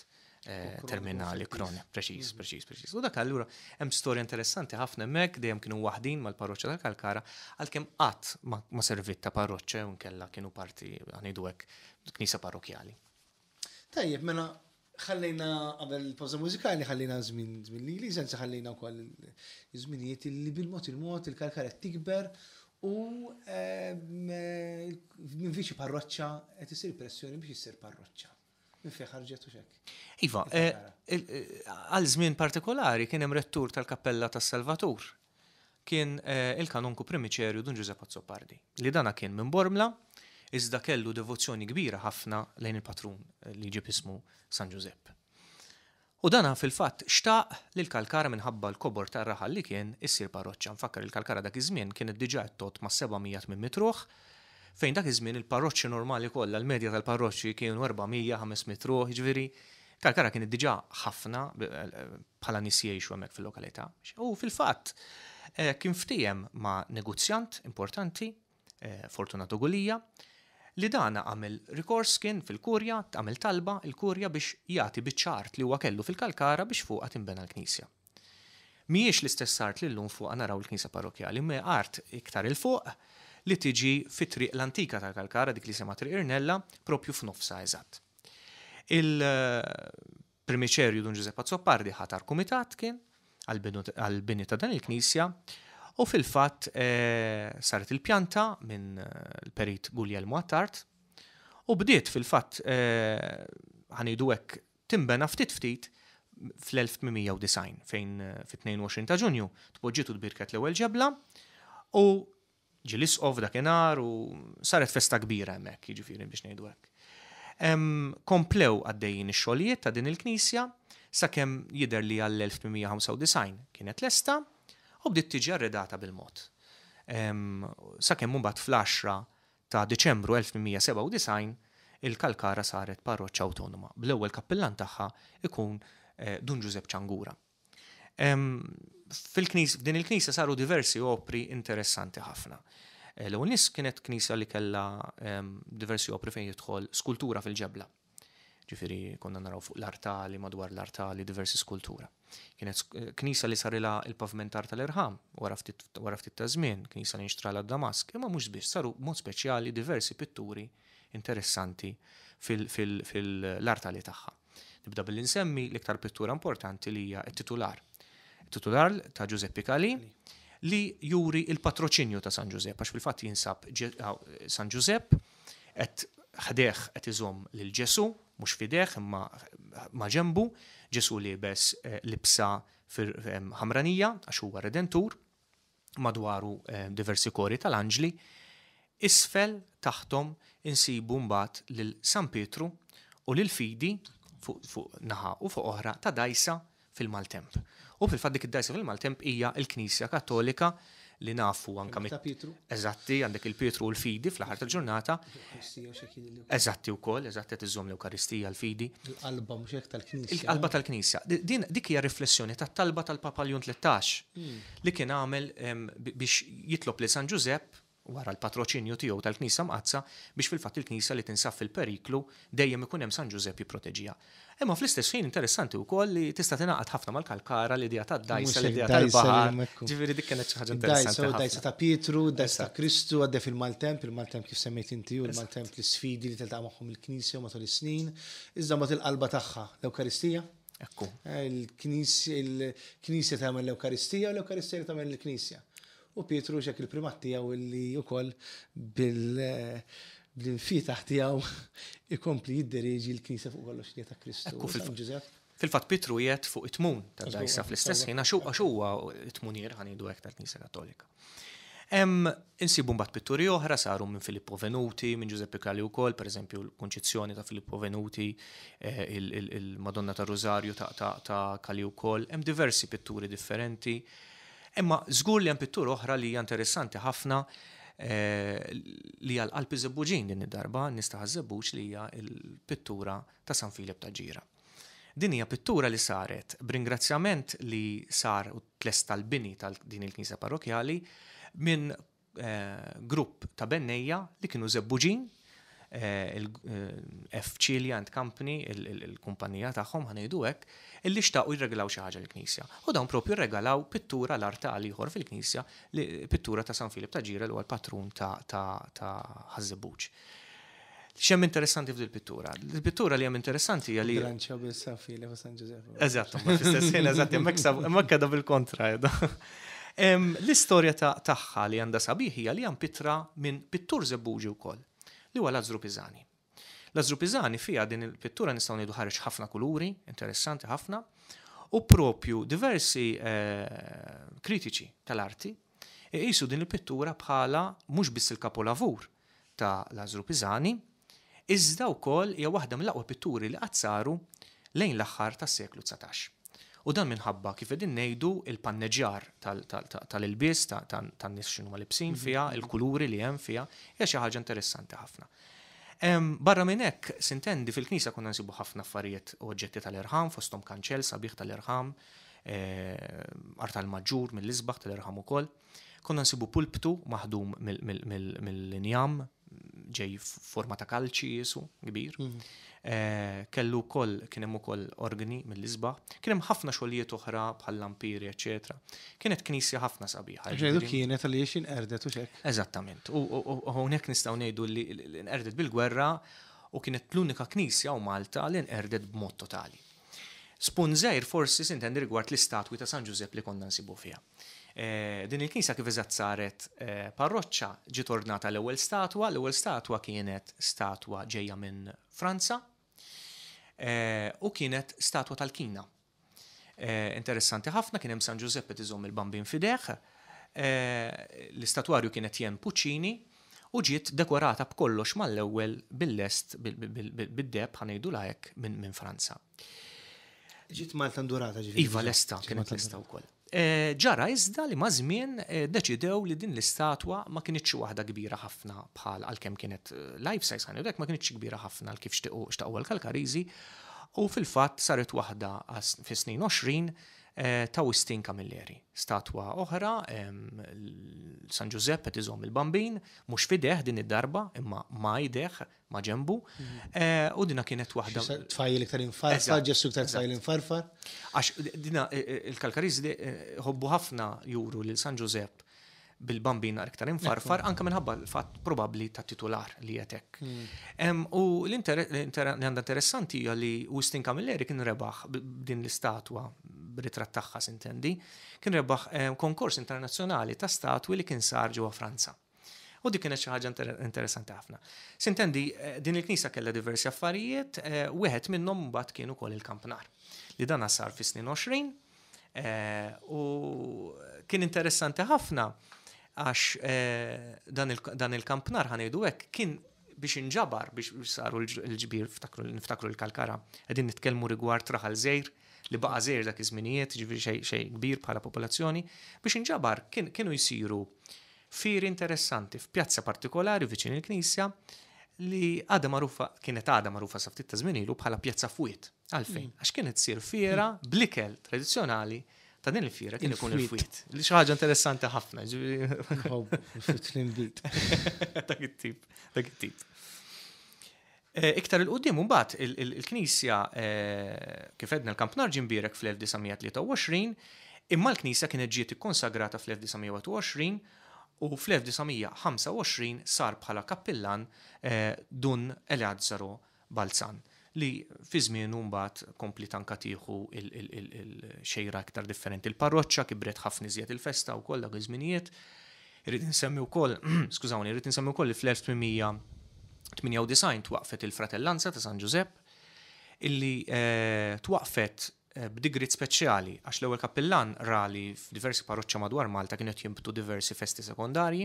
terminali kroniku. Preċiż, preċiż, preċiż. U dak allura hemm storja interessanti ħafna hemmhekk, dejjem kienu waħdin mal-parroċċa tal-Kalkara, għalkemm qatt ma serviet ta' parroċċa jew inkella kienu parti ngħidu hekk knisja parrokkjali. Tajjeb, mela ħallejna qabel il-pawża mużikali ħallejna żmien żmien l-Ingliż, anzi ħallejna wkoll iż-żminijiet li bil-mod il-mod il-Kalkara qed tikber u ehm, minn viċi parroċċa qed isir pressjoni biex issir parroċċa. Minn fejn ħarġet u xek. Iva, eh, eh, għal żmien partikolari kien hemm rettur tal-Kappella tas-Salvatur kien il-Kanonku Primiċerju Dun Ġużepp Azzopardi, li dana kien minn Bormla, iżda kellu devozzjoni kbira ħafna lejn il-patrun li jġib ismu San Ġużepp. U dana fil-fatt xtaq li l-Kalkara minħabba l-kobor tar-raħal li kien issir parroċċa. Nfakkar li l-Kalkara dak iż-żmien kienet diġà qed tgħodd mas-700 800 ruħ, fejn dak iż-żmien il-parroċċi normali kollha, l-medja tal-parroċċi kienu 400, 500 ruħ, jiġifieri Kalkara kienet diġà ħafna bħala nies jgħixu hemmhekk fil-lokalità. U fil-fatt eh, kien ftiehem ma' negozjant importanti, eh, Fortunato Gulia, li dana għamel rikors kien fil-kurja, għamel talba il-kurja biex jagħti biċċa art li huwa kellu fil-Kalkara biex fuqha tinbena l-knisja. Mhijiex l-istess art li llum fuqha naraw il-knisja parrokkjali, imma art iktar 'il fuq li tiġi fi triq l-antika tal-Kalkara, dik li jisimha Triq Irnella, propju f'nofsha eżatt. Il-Primiċerju Dun Ġużepp Azzopardi ħatar kumitat kien għall-bini ta' dan il-knisja u fil-fatt eh, saret il-pjanta minn eh, l-perit Guglielmo Attard u bdiet fil-fatt eh, ħa ngħidu hekk tinbena ftit ftit fl-1890 fejn fit-22 ta' Ġunju tpoġġiet u tbierket l-ewwel ġebla u ġie l-isqof dakinhar u saret festa kbira hemmhekk, jiġifieri biex ngħidu hekk. Komplew għaddejjin ix-xogħlijiet ta' din il-knisja sakemm jidher li għall-1895 kienet lesta u bdiet tiġi arredata bil-mod. Sakemm imbagħad fl-10 ta' Diċembru 1897 il-Kalkara saret parroċċa awtonoma, bl-ewwel kappillan tagħha ikun Dun Ġużepp Ċangura. Fil-knis, f'din il-knisja saru diversi opri interessanti ħafna. L-ewwel nies kienet knisja li kellha diversi opri fejn jidħol skultura fil-ġebla. Ġifieri konna naraw fuq l-artali, madwar l-artali diversi skultura. Kienet knisja li sarilha il-pavimentar tal-irħam wara ftit wara ftit ta' żmien, knisja li nxtralha d-Damask, imma mhux biss saru b'mod speċjali diversi pitturi interessanti fil-artali tagħha. Nibda billi nsemmi l-iktar pittura importanti li hija t-titular. It-titular ta' Giuseppe Calì li juri il-patroċinju ta' San Ġużepp, għax fil-fatt jinsab San Ġużepp qed ħdejh qed iżomm lil Ġesù, mhux f'idejh imma ma' ġenbu, Ġesù liebes libsa ħamranija għax huwa Redentur, madwaru diversi kori tal-anġli, isfel taħthom insibu mbagħad lil San Pietru u lil Fidi fuq naħa u fuq oħra ta' dgħajsa fil-maltemp. U fil-fatt dik id-dgħajsa fil-maltemp hija l-Knisja Kattolika li nafu anka mit. Pietru. Eżatti, għandek il-Pietru u l-Fidi fl-aħħar tal-ġurnata. Eżatti wkoll, eżatti qed iżżomm l-Ewkaristija l-Fidi. Il-qalba mhux hekk tal-Knisja. Il-qalba tal-Knisja. Din dik hija riflessjoni tat-talba tal-Papa Ljun 13 li kien għamel biex jitlob lil San Ġużepp wara l-patroċinju tiegħu tal-Knisja Mqaddsa, biex fil-fatt il-Knisja li tinsab fil-periklu dejjem ikun hemm San Ġużepp jipproteġiha. Imma fl-istess ħin interessanti wkoll li tista' tingħaqad ħafna mal-Kalkara, l-idea tad-dgħajsa, l-idea tal-baħar. Ġifieri dik kienet xi ħaġa interessanti. Id-dgħajsa ta' Pietru, id-dgħajsa ta' Kristu għaddej fil-maltemp, il-maltemp kif semmejt inti u l-maltemp l-isfidi li tiltaqa' magħhom il-Knisja matul is-snin, iżda mbagħad il-qalba tagħha, l-Ewkaristija. Ekku. Il-Knisja tagħmel l-Ewkaristija u l-Ewkaristija li tagħmel il-Knisja. U Pietru xek il-primat tiegħu li wkoll bil-infietaħ tiegħu ikompli jidderieġi l-Knisja fuq kollox li ta' Kristu. Ekku fil-Ġużepp. Fil-fatt Pietru qiegħed fuq it-tmun tad-dgħajsa fl-istess ħin għax huwa t-tmunier ħa ngħidu hekk tal-Knisja Kattolika. Insibu mbagħad pitturi oħra saru minn Filippo Venuti, minn Giuseppe Cali wkoll, pereżempju l-Kunċizzjoni ta' Filippo Venuti, eh, il-Madonna ta' Rosario ta' Cali wkoll, hemm diversi pitturi differenti. Imma żgur li hemm pittura oħra li hija interessanti ħafna eh, li hija l-qalb iż-Żebbuġin din id-darba, nies ta' Ħaż-Żebbuġ li hija l-pittura ta' San Filep ta' Ġira. Din hija pittura li saret b'ringrazzjament li sar u tlesta l-bini ta' din il-knisja parrokkjali minn grupp ta' bennejja li kienu Żebbuġin, il-F. Cilia and Company, il-kumpanija tagħhom ħa ngħidu hekk, illi xtaqu jirregalaw xi ħaġa lill-knisja. U dawn propju rregalaw pittura l-artal ieħor fil-knisja, pittura ta' San Filip ta' Ġira li huwa l-patrun ta' Ħaż-Żebbuġ. X'hemm interessanti f'dil pittura? Il-pittura li hemm interessanti hija li. Bilanċjaw bejn San Filep u San Ġużepp. Eżatt, ma fl-istess ħin, eżatt, hemmhekk hemmhekk qiegħda bil-kontra qiegħda. L-istorja tagħha li għandha sabiħ hija li hija mpittra minn pittur Żebbuġi wkoll, li huwa Lazzru Pisani. Lazzru Pisani fiha din il-pittura nistgħu ngħidu ħareġ ħafna kuluri, interessanti ħafna, u propju diversi kritiċi tal-arti iqisu din il-pittura bħala mhux biss il-kapolavur ta' Lazzru Pisani, iżda wkoll hija waħda mill-aqwa pitturi li qatt saru lejn l-aħħar tas-seklu 19. U dan minħabba, kif qegħdin ngħidu, il-panneġġjar tal-ilbies tan-nies x'inhuma libsin fiha, il-kuluri li hemm fiha, hija xi ħaġa interessanti ħafna. Barra minn hekk, sintendi, fil-knisja konna nsibu ħafna affarijiet u oġġetti tal-irħam, fosthom kanċell sabiħ tal-irħam, artal maġġur mill-isbaħ tal-irħam ukoll. Konna nsibu pulptu maħdum mill-injam, ġej forma ta' kalċi jisu, kbir. Mhm. Eh, kellu wkoll kien hemm ukoll organi mill-isbaħ. Kien hemm ħafna xogħlijiet oħra bħal lampiri, eċetera. Kienet knisja ħafna sabiħa. Ġejdu kienet għaliex inqerdet u xek. Eżattament. U hawnhekk nistgħu ngħidu li nqerdet bil-gwerra u kienet l-unika knisja u Malta li nqerdet b'mod totali. Spunt żgħir forsi sintendi rigward l-istatwi ta' San Ġużepp li konna nsibu fiha. Din il-knisja kif eżatt saret parroċċa ġiet ordnata l-ewwel statwa, l-ewwel statwa kienet statwa ġejja minn Franza. U kienet statwa tal-Kina. Interessanti ħafna kien hemm San Ġużepp qed iżomm il-Bambin f'idejh. L-istatwarju kien Etienne Puccini u ġiet dekorata b'kollox mal-ewwel bil-lest bid-deheb ħa ngħidulha hekk minn Franza. Ġiet Malta ndurata ġifieri. Iva lesta, kienet lesta wkoll. Ġara iżda li maż-żmien deċidew li din l-istatwa ma kinitx waħda kbira ħafna bħal għalkemm kienet life size ħa ngħidu hekk ma kinitx kbira ħafna għal kif xtaqu l-Kalkariżi u fil-fatt saret waħda fis-snin 20 ta' Wistin Camilleri. Statwa oħra, San Ġużepp qed iżomm il-Bambin, mhux f'idejh din id-darba, imma ma' idejh, ma' ġenbu. U dina kienet waħda. Tfajjel iktar infarfar, Ġesù iktar tfajjel infarfar. Għax dina il-Kalkariżi ħobbu ħafna juru lil San Ġużepp bil-bambin iktar infarfar, anka minħabba l-fatt probabbli ta' titular li qed hekk. U li għandha interessanti hija li Wistin Camilleri kien rebaħ din l-istatwa b'ritratt tagħha sintendi, kien rebaħ konkors internazzjonali ta' statwi li kien sar ġewwa Franza. U dik kienet xi ħaġa interessanti ħafna. Sintendi, din il-knisja kellha diversi affarijiet, wieħed minnhom mbagħad kien ukoll il-kampnar. Li dan sar fis-snin 20 u kien interessanti ħafna għax dan il-kampnar ħa ngħidu hekk kien biex inġabar biex saru l-ġbir niftakru l-Kalkara qegħdin nitkellmu rigward raħal żgħir li baqa' żgħir dak iż-żminijiet, ġifieri xejn kbir bħala popolazzjoni, biex inġabar kienu jsiru fieri interessanti f'pjazza partikolari viċin il-knisja li għadha magħrufa, kienet għadha magħrufa sa ftit ta' żmien ilu bħala Pjazza Fwiet. Għalfejn? Għax kienet ssir fiera bl-ikel tradizzjonali ta' din il-fiera kien ikun il-fwiet. Li xi ħaġa interessanti ħafna. Fwiet l-inbid. Dak it-tip, dak it-tip. Iktar il-qudiem mbagħad il-knisja kif għedna l-Kampnar ġie mbierek fl-1923, imma l-knisja kienet ġiet ikkonsagrata fl-1921 u fl-1925 sar bħala kappillan Dun Eleazzaro Balzan li fi żmienu mbagħad kompliet anke tieħu il-xejra iktar differenti. Il-parroċċa kibret ħafna iżjed il-festa wkoll dak iż-żminijiet. Irrid insemmi wkoll, skużawni, irrid insemmi wkoll li fl-1898 twaqfet il-Fratellanza ta' San Ġużepp illi twaqqfet b'digriet speċjali għax l-ewwel kappillan ra li f'diversi parroċċa madwar Malta kienu qed jinbtu diversi festi sekondarji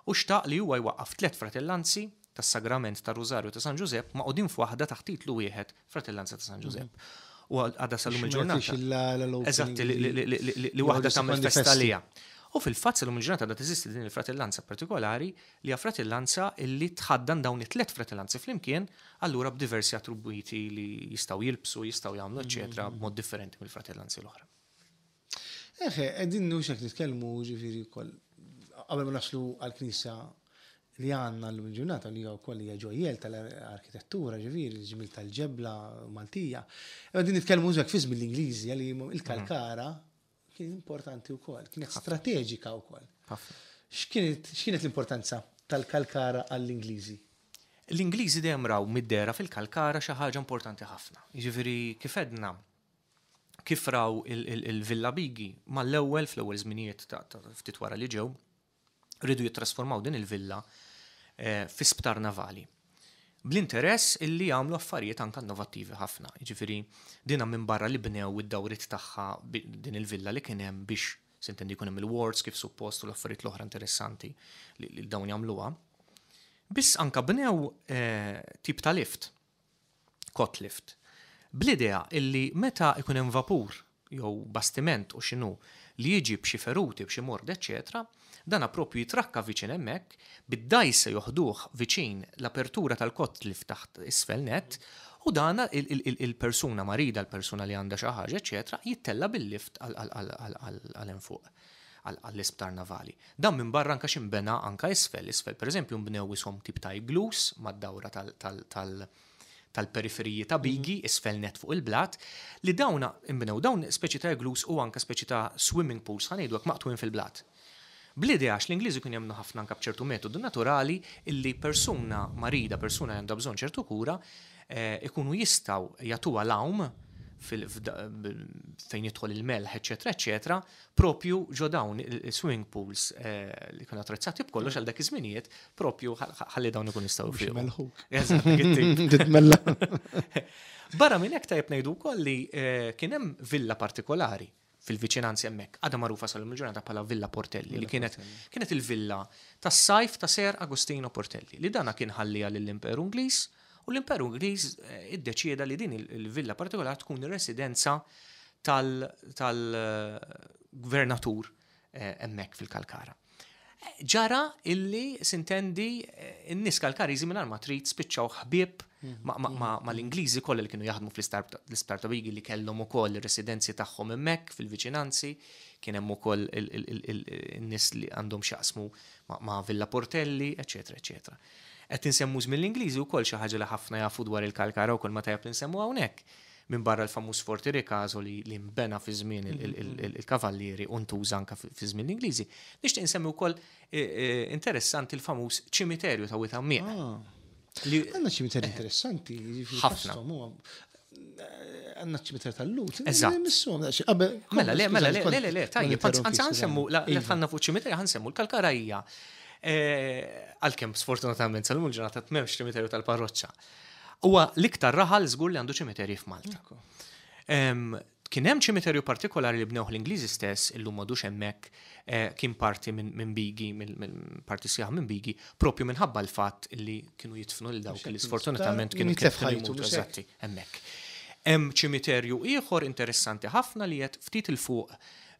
u xtaq li huwa jwaqqaf tlett fratellanzi tas-Sagrament tar-Rużarju ta' San Ġużepp magħqudin f'waħda taħt titlu wieħed Fratellanza ta' San Ġużepp. U għadha sal-lum il-ġurnata. Eżatt, li waħda tagħmel festa għaliha. U fil-fatt sal-lum il-ġurnata għadha teżisti din il-fratellanza partikolari li hija fratellanza li tħaddan dawn it-tliet fratellanzi flimkien, allura b'diversi attribwiti li jistgħu jilbsu, jistgħu jagħmlu, eċċetera, b'mod differenti mill-fratellanzi l-oħra. Eħe, qegħdin hux hekk nitkellmu ġifieri wkoll qabel ma naslu għall-knisja li għandna llum il-ġurnata li hija wkoll hija ġojjel tal-arkitettura ġifieri l-ġmiel tal-ġebla Maltija. Qegħdin nitkellmu hekk fi żmien l-Ingliżi li il-Kalkara kien importanti wkoll, kienet strateġika wkoll. X'kienet l-importanza tal-Kalkara għall-Ingliżi? L-Ingliżi dejjem raw mid-dehra fil-Kalkara xi ħaġa importanti ħafna. Jiġifieri kif għedna, kif raw il-Villa Bigi mal-ewwel fl-ewwel żminijiet ta' ftit wara li ġew, riedu jittrasformaw din il-villa fi sptar navali. Bl-interess illi jagħmlu affarijiet anke innovattivi ħafna. Jiġifieri dina minbarra li bnew id-dawriet tagħha din il-villa li kien hemm biex sintendi jkun hemm il-wards kif suppost u l-affarijiet l-oħra interessanti li dawn jagħmluha. Biss anke bnew tip ta' lift cot lift, bl-idea illi meta jkun hemm vapur jew bastiment u x'inhu li jiġi b'xi feruti, b'xi mord eċċetera, dana proprju jitrakka viċin hemmhekk, bid-dgħajsa joħduh viċin l-apertura tal-cot lift taħt isfel nett u dana il-persuna marida, l-persuna li għandha xi ħaġa eċċetera, jittella' bil-lift għal hemm fuq. għall-isptar navali. Dan minbarra anke x'inbena anke isfel. Isfel pereżempju nbnew ishom tip ta' igloos mad-dawra tal-periferiji ta' Bigi, isfel nett fuq il-blat, li dawn inbnew dawn speċi ta' igloos u anke speċi ta' swimming pools ħa ngħidu hekk maqtugħin fil-blat. Bl-idea għax l-Ingliżi kienu jemmnu ħafna anke b'ċertu metodu naturali illi persuna marida, persuna li għandha bżonn ċertu kura, ikunu jistgħu jagħtuha l-għawm fejn jidħol il-melħ, eċetera, eċetera, propju ġo dawn il-swimming pools eh, li kienu attrezzati b'kollox għal dak iż-żminijiet, propju ħalli dawn ikun jistgħu fihom. Barra minn hekk tajjeb ngħidu wkoll li eh, kien hemm villa partikolari fil-viċinanzi hemmhekk, għadha magħrufa sal-lum il-ġurnata bħala Villa Portelli, li kienet kienet il-villa tas-sajf ta' Ser Agostino Portelli, li dana kien ħalliha lill-Imperu Ingliż, u l-Imperu Ingliż eh, iddeċieda li din il-villa partikolari tkun ir-residenza tal-gvernatur eh, hemmhekk fil-Kalkara. Ġara illi sintendi n-nies Kalkariżi mingħajr ma trid spiċċaw ħbieb mal-Ingliżi kollha li kienu jaħdmu fl-Isptar ta' Bigi li kellhom ukoll ir-residenzi tagħhom hemmhekk fil-viċinanzi, kien hemm ukoll in-nies li għandhom x'jaqsmu ma' Villa Portelli, eċċetera, eċċetera. Qed insemmu żmien l-Ingliżi wkoll xi ħaġa li ħafna jafu dwar il-Kalkara wkoll ma tajjeb li nsemmu hawnhekk. Minbarra l-famuż Forti Ricaso li li nbena fi żmien il-Kavallieri u ntuża anke fi żmien l-Ingliżi, nixtieq insemmi wkoll interessanti l-famuż ċimiterju ta' Wied Għammieq. Għandna ċimiterji interessanti, jiġifieri Ħafna. Għandna ċimiterju tal-Lut. Eżatt. Mela, le, mela, le, le, le, tajjeb, anzi ħansemmu, la tħanna fuq ċimiterju ħansemmu l-Kalkara hija għalkemm sfortunatament sal-lum il-ġurnata m'hemmx ċimiterju tal-parroċċa. Huwa l-iktar raħal żgur li għandu ċimiterji f'Malta. Kien hemm ċimiterju partikolari li bnewh l-Ingliżi stess, illum m'għadux hemmhekk, eh, kien parti minn Bigi, minn parti sħiħa minn Bigi, propju minħabba l-fatt li kienu jidfnu lil dawk li sfortunatament kienu jmutu eżatti hemmhekk. Hemm ċimiterju ieħor interessanti ħafna li qed ftit 'il fuq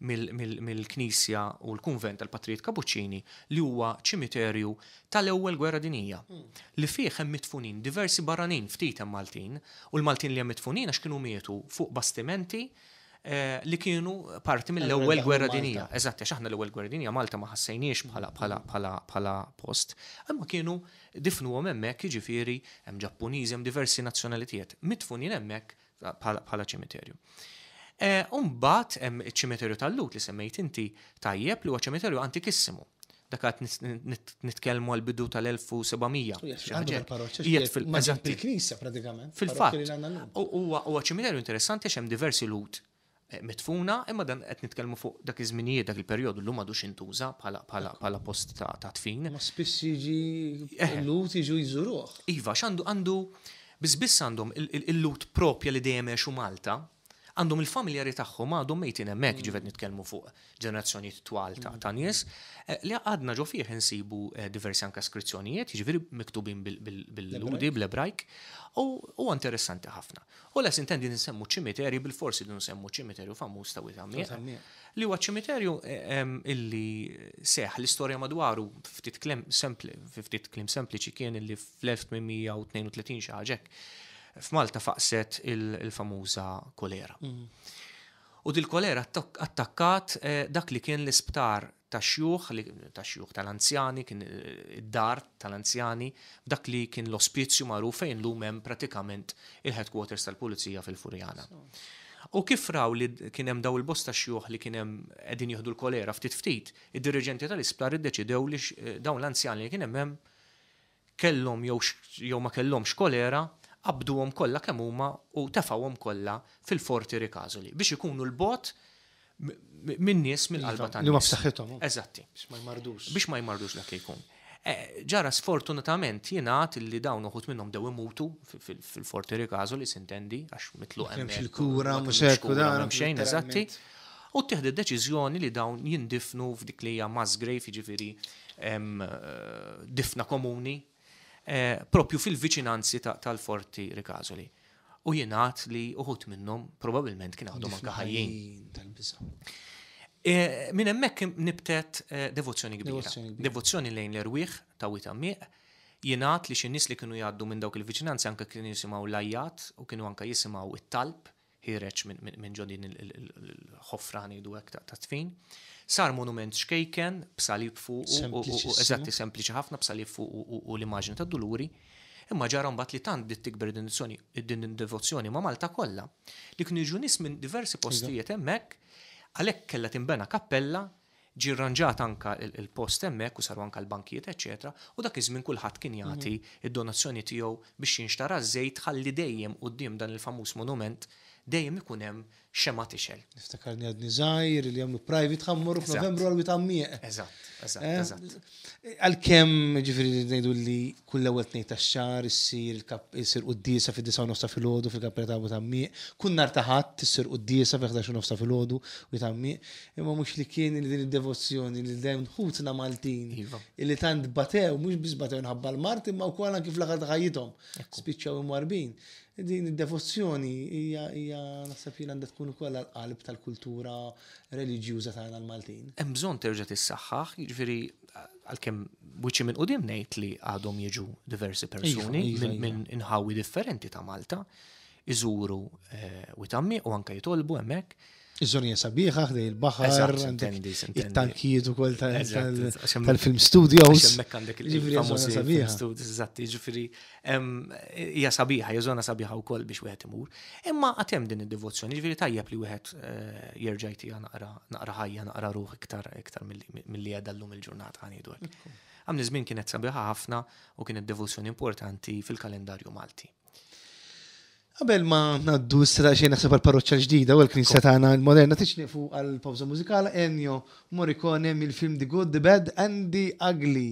mill-knisja u l-kunvent tal-Patrijiet Kapuċċini li huwa ċimiterju tal-Ewwel Gwerra Dinjija, li fih hemm midfunin diversi barranin, ftit hemm Maltin, u l-Maltin li hemm midfunin għax kienu mietu fuq bastimenti li kienu parti mill-Ewwel Gwerra Dinjija. Eżatt, għax aħna l-Ewwel Gwerra Dinjija Malta ma ħassejniex bħala bħala bħala bħala post, imma kienu difnuhom hemmhekk, jiġifieri hemm Ġappuniżi, hemm diversi nazzjonalitijiet midfunin hemmhekk bħala ċimiterju. U mbagħad hemm iċ-ċimiterju tal-Lhud li semmejt inti tajjeb li huwa ċimiterju antikissimu. Dak qed nitkellmu għall-bidu tal-1700. Fil-knisja pratikament. Fil-fatt. Huwa ċimiterju interessanti għax hemm diversi Lhud midfuna, imma dan qed nitkellmu fuq dak iż-żminijiet, dak il-perjodu llum m'għadux intuża bħala post ta' dfin. Ma spiss jiġi Lhud jiġu jżuruh. Iva, għax għandu biss biss għandhom il-Lhud propja li dejjem għexu Malta, għandhom il-familjari tagħhom għadhom mejtin hemmhekk, ġifieri qed nitkellmu fuq ġenerazzjonijiet twal ta' nies, li għadna ġo fih insibu diversi anke skrizzjonijiet, jiġifieri miktubin bil-Lhudi, bl-Ebrajk, u huwa interessanti ħafna. U les intendi nsemmu ċimiterji bilfors irridu nsemmu ċimiterju famuż ta' Wied Għammieq. Li huwa ċimiterju illi seħ l-istorja madwaru ftit kliem sempli, ftit kliem sempliċi kien illi fl-1832 xi ħaġa hekk f'Malta faqset il-famuża kolera. U dil-kolera attakkat dak li kien l-isptar tax-xjuħ, tax-xjuħ tal-anzjani, kien id-dar tal-anzjani, f'dak li kien l-ospizju magħruf fejn llum hemm pratikament il-headquarters tal-Pulizija fil-Furjana. U kif raw li kien hemm daw il-bosta xjuħ li kien hemm qegħdin jieħdu l-kolera ftit ftit, id-diriġenti tal-isptar iddeċidew li dawn l-anzjani li kien hemm hemm kellhom jew jew ma kellhomx kolera, qabduhom kollha kemm huma u tefgħuhom kollha fil-Forti Ricasoli biex ikunu 'l bogħod min-nies, mill-qalba tan-nies. Li huma b'saħħithom. Eżatti. Biex ma jmardux. Biex ma jmardux dak li jkun. Ġara sfortunatament jingħad li dawn uħud minnhom bdew imutu fil-Forti Ricasoli, sintendi, għax mitluq hemmhekk. M'hemmx il-kura, mhux hekk u dan. M'hemm xejn, eżatti. U ttieħdet deċiżjoni li dawn jindifnu f'dik li hija mass grave, jiġifieri difna komuni, propju fil-viċinanzi tal-Forti Ricasoli. U jingħad li uħud minnhom probabbilment kien għadhom anke ħajjin. Minn hemmhekk nibtet devozzjoni kbira. Devozzjoni lejn l-erwieħ ta' Wied Għammieq. Jingħad li xi nies li kienu jgħaddu minn dawk il-viċinanzi anke kienu jisimgħu l-għajjat u kienu anke jisimgħu t-talb ħiereġ minn ġo din il-ħofra ngħidu hekk ta' dfin. Sar monument ċkejken b'salib fuqu, eżatti sempliċi ħafna b'salib fuqu u l-immaġni tad-Duluri. Imma ġara mbagħad li tant bdiet tikber din id-devozzjoni ma' Malta kollha li kienu jiġu nies minn diversi postijiet hemmhekk, għalhekk kellha tinbena kappella. Ġie rranġat anka l-post hemmhekk u saru anka l-bankijiet eċċetera u dak iż-żmien kulħadd kien jagħti d-donazzjoni tiegħu biex jinxtara ż-żejt ħalli dejjem quddiem dan il-famuż monument dejjem ikun hemm xemgħa tixgħel. Niftakarni għadni żgħir li jagħmlu private ħa mmorru f'Novembru għal Wied Għammieq. Eżatt, eżatt, eh? eżatt. Għalkemm ġifieri ngħidu li kull ewwel tnejn tax-xahar issir issir quddiesa fid-disgħa u nofs ta' filgħodu fil-kappella ta' Wied Għammieq, kull nhar ta' Ħadd issir quddiesa fil-11 u nofs ta' filgħodu Wied Għammieq, imma mhux li kien li din id-devozzjoni li dawn ħutna Maltin iva. illi tant batew, mhux biss batew nħabba l-mard imma wkoll anki fl-aħħar ta' ħajjithom spiċċaw imwarbin. Din id-devozzjoni hija hija naħseb jien għandha tkun ukoll għall-qalb tal-kultura reliġjuża tagħna l-Maltin. Hemm bżonn terġa' tissaħħaħ, jiġifieri għalkemm wiċċi minn quddiem ngħid li għadhom jiġu diversi iva, persuni iva, iva. minn inħawi differenti ta' Malta iżuru eh, Witammi u anke jitolbu hemmhekk. Iż-żona hija sabiħa ħdej il-baħar, it-tankijiet ukoll tal-film studios. Hemmhekk għandek il-famużi film studios, eżatt, jiġifieri hija sabiħa, hija żona sabiħa wkoll biex wieħed imur. Imma għad hemm din id-devozzjoni, jiġifieri tajjeb li wieħed eh, jerġa' jtiha naqra naqra ħajja, naqra ruħ iktar iktar milli qiegħda llum il-ġurnata ngħidu hekk. Għamni żmien kienet sabiħa ħafna u kienet devozzjoni importanti fil-kalendarju Malti. Qabel ma ngħaddu issa daqsxejn naħseb għall-parroċċa l-ġdida u għall-knisja tagħna l-moderna tridx nieqfu għal pawża mużikala Ennio Morricone mill-film The Good, The Bad and The Ugly.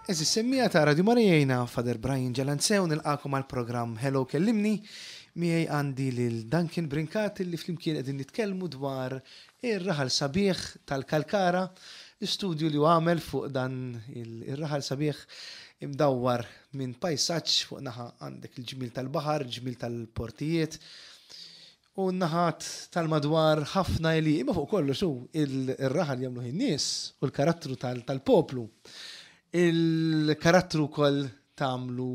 Eżis semmija ta' Radio Marijena, Father Brian Ġalanzew, nilqakom għal programm Hello Kellimni, miegħi għandi lil Duncan Brincat li flimkien qegħdin nitkellmu dwar Ir-raħal sabiħ tal-Kalkara, l-istudju li hu għamel fuq dan ir-raħal sabiħ imdawwar minn pajsaġġ fuq naħa għandek il-ġmiel tal-baħar, il-ġmiel tal-portijiet u n-naħat tal-madwar ħafna għelieqi, imma fuq kollox hu ir-raħal jagħmluh in-nies u l-karattru tal-poplu. Il-karattru wkoll tagħmlu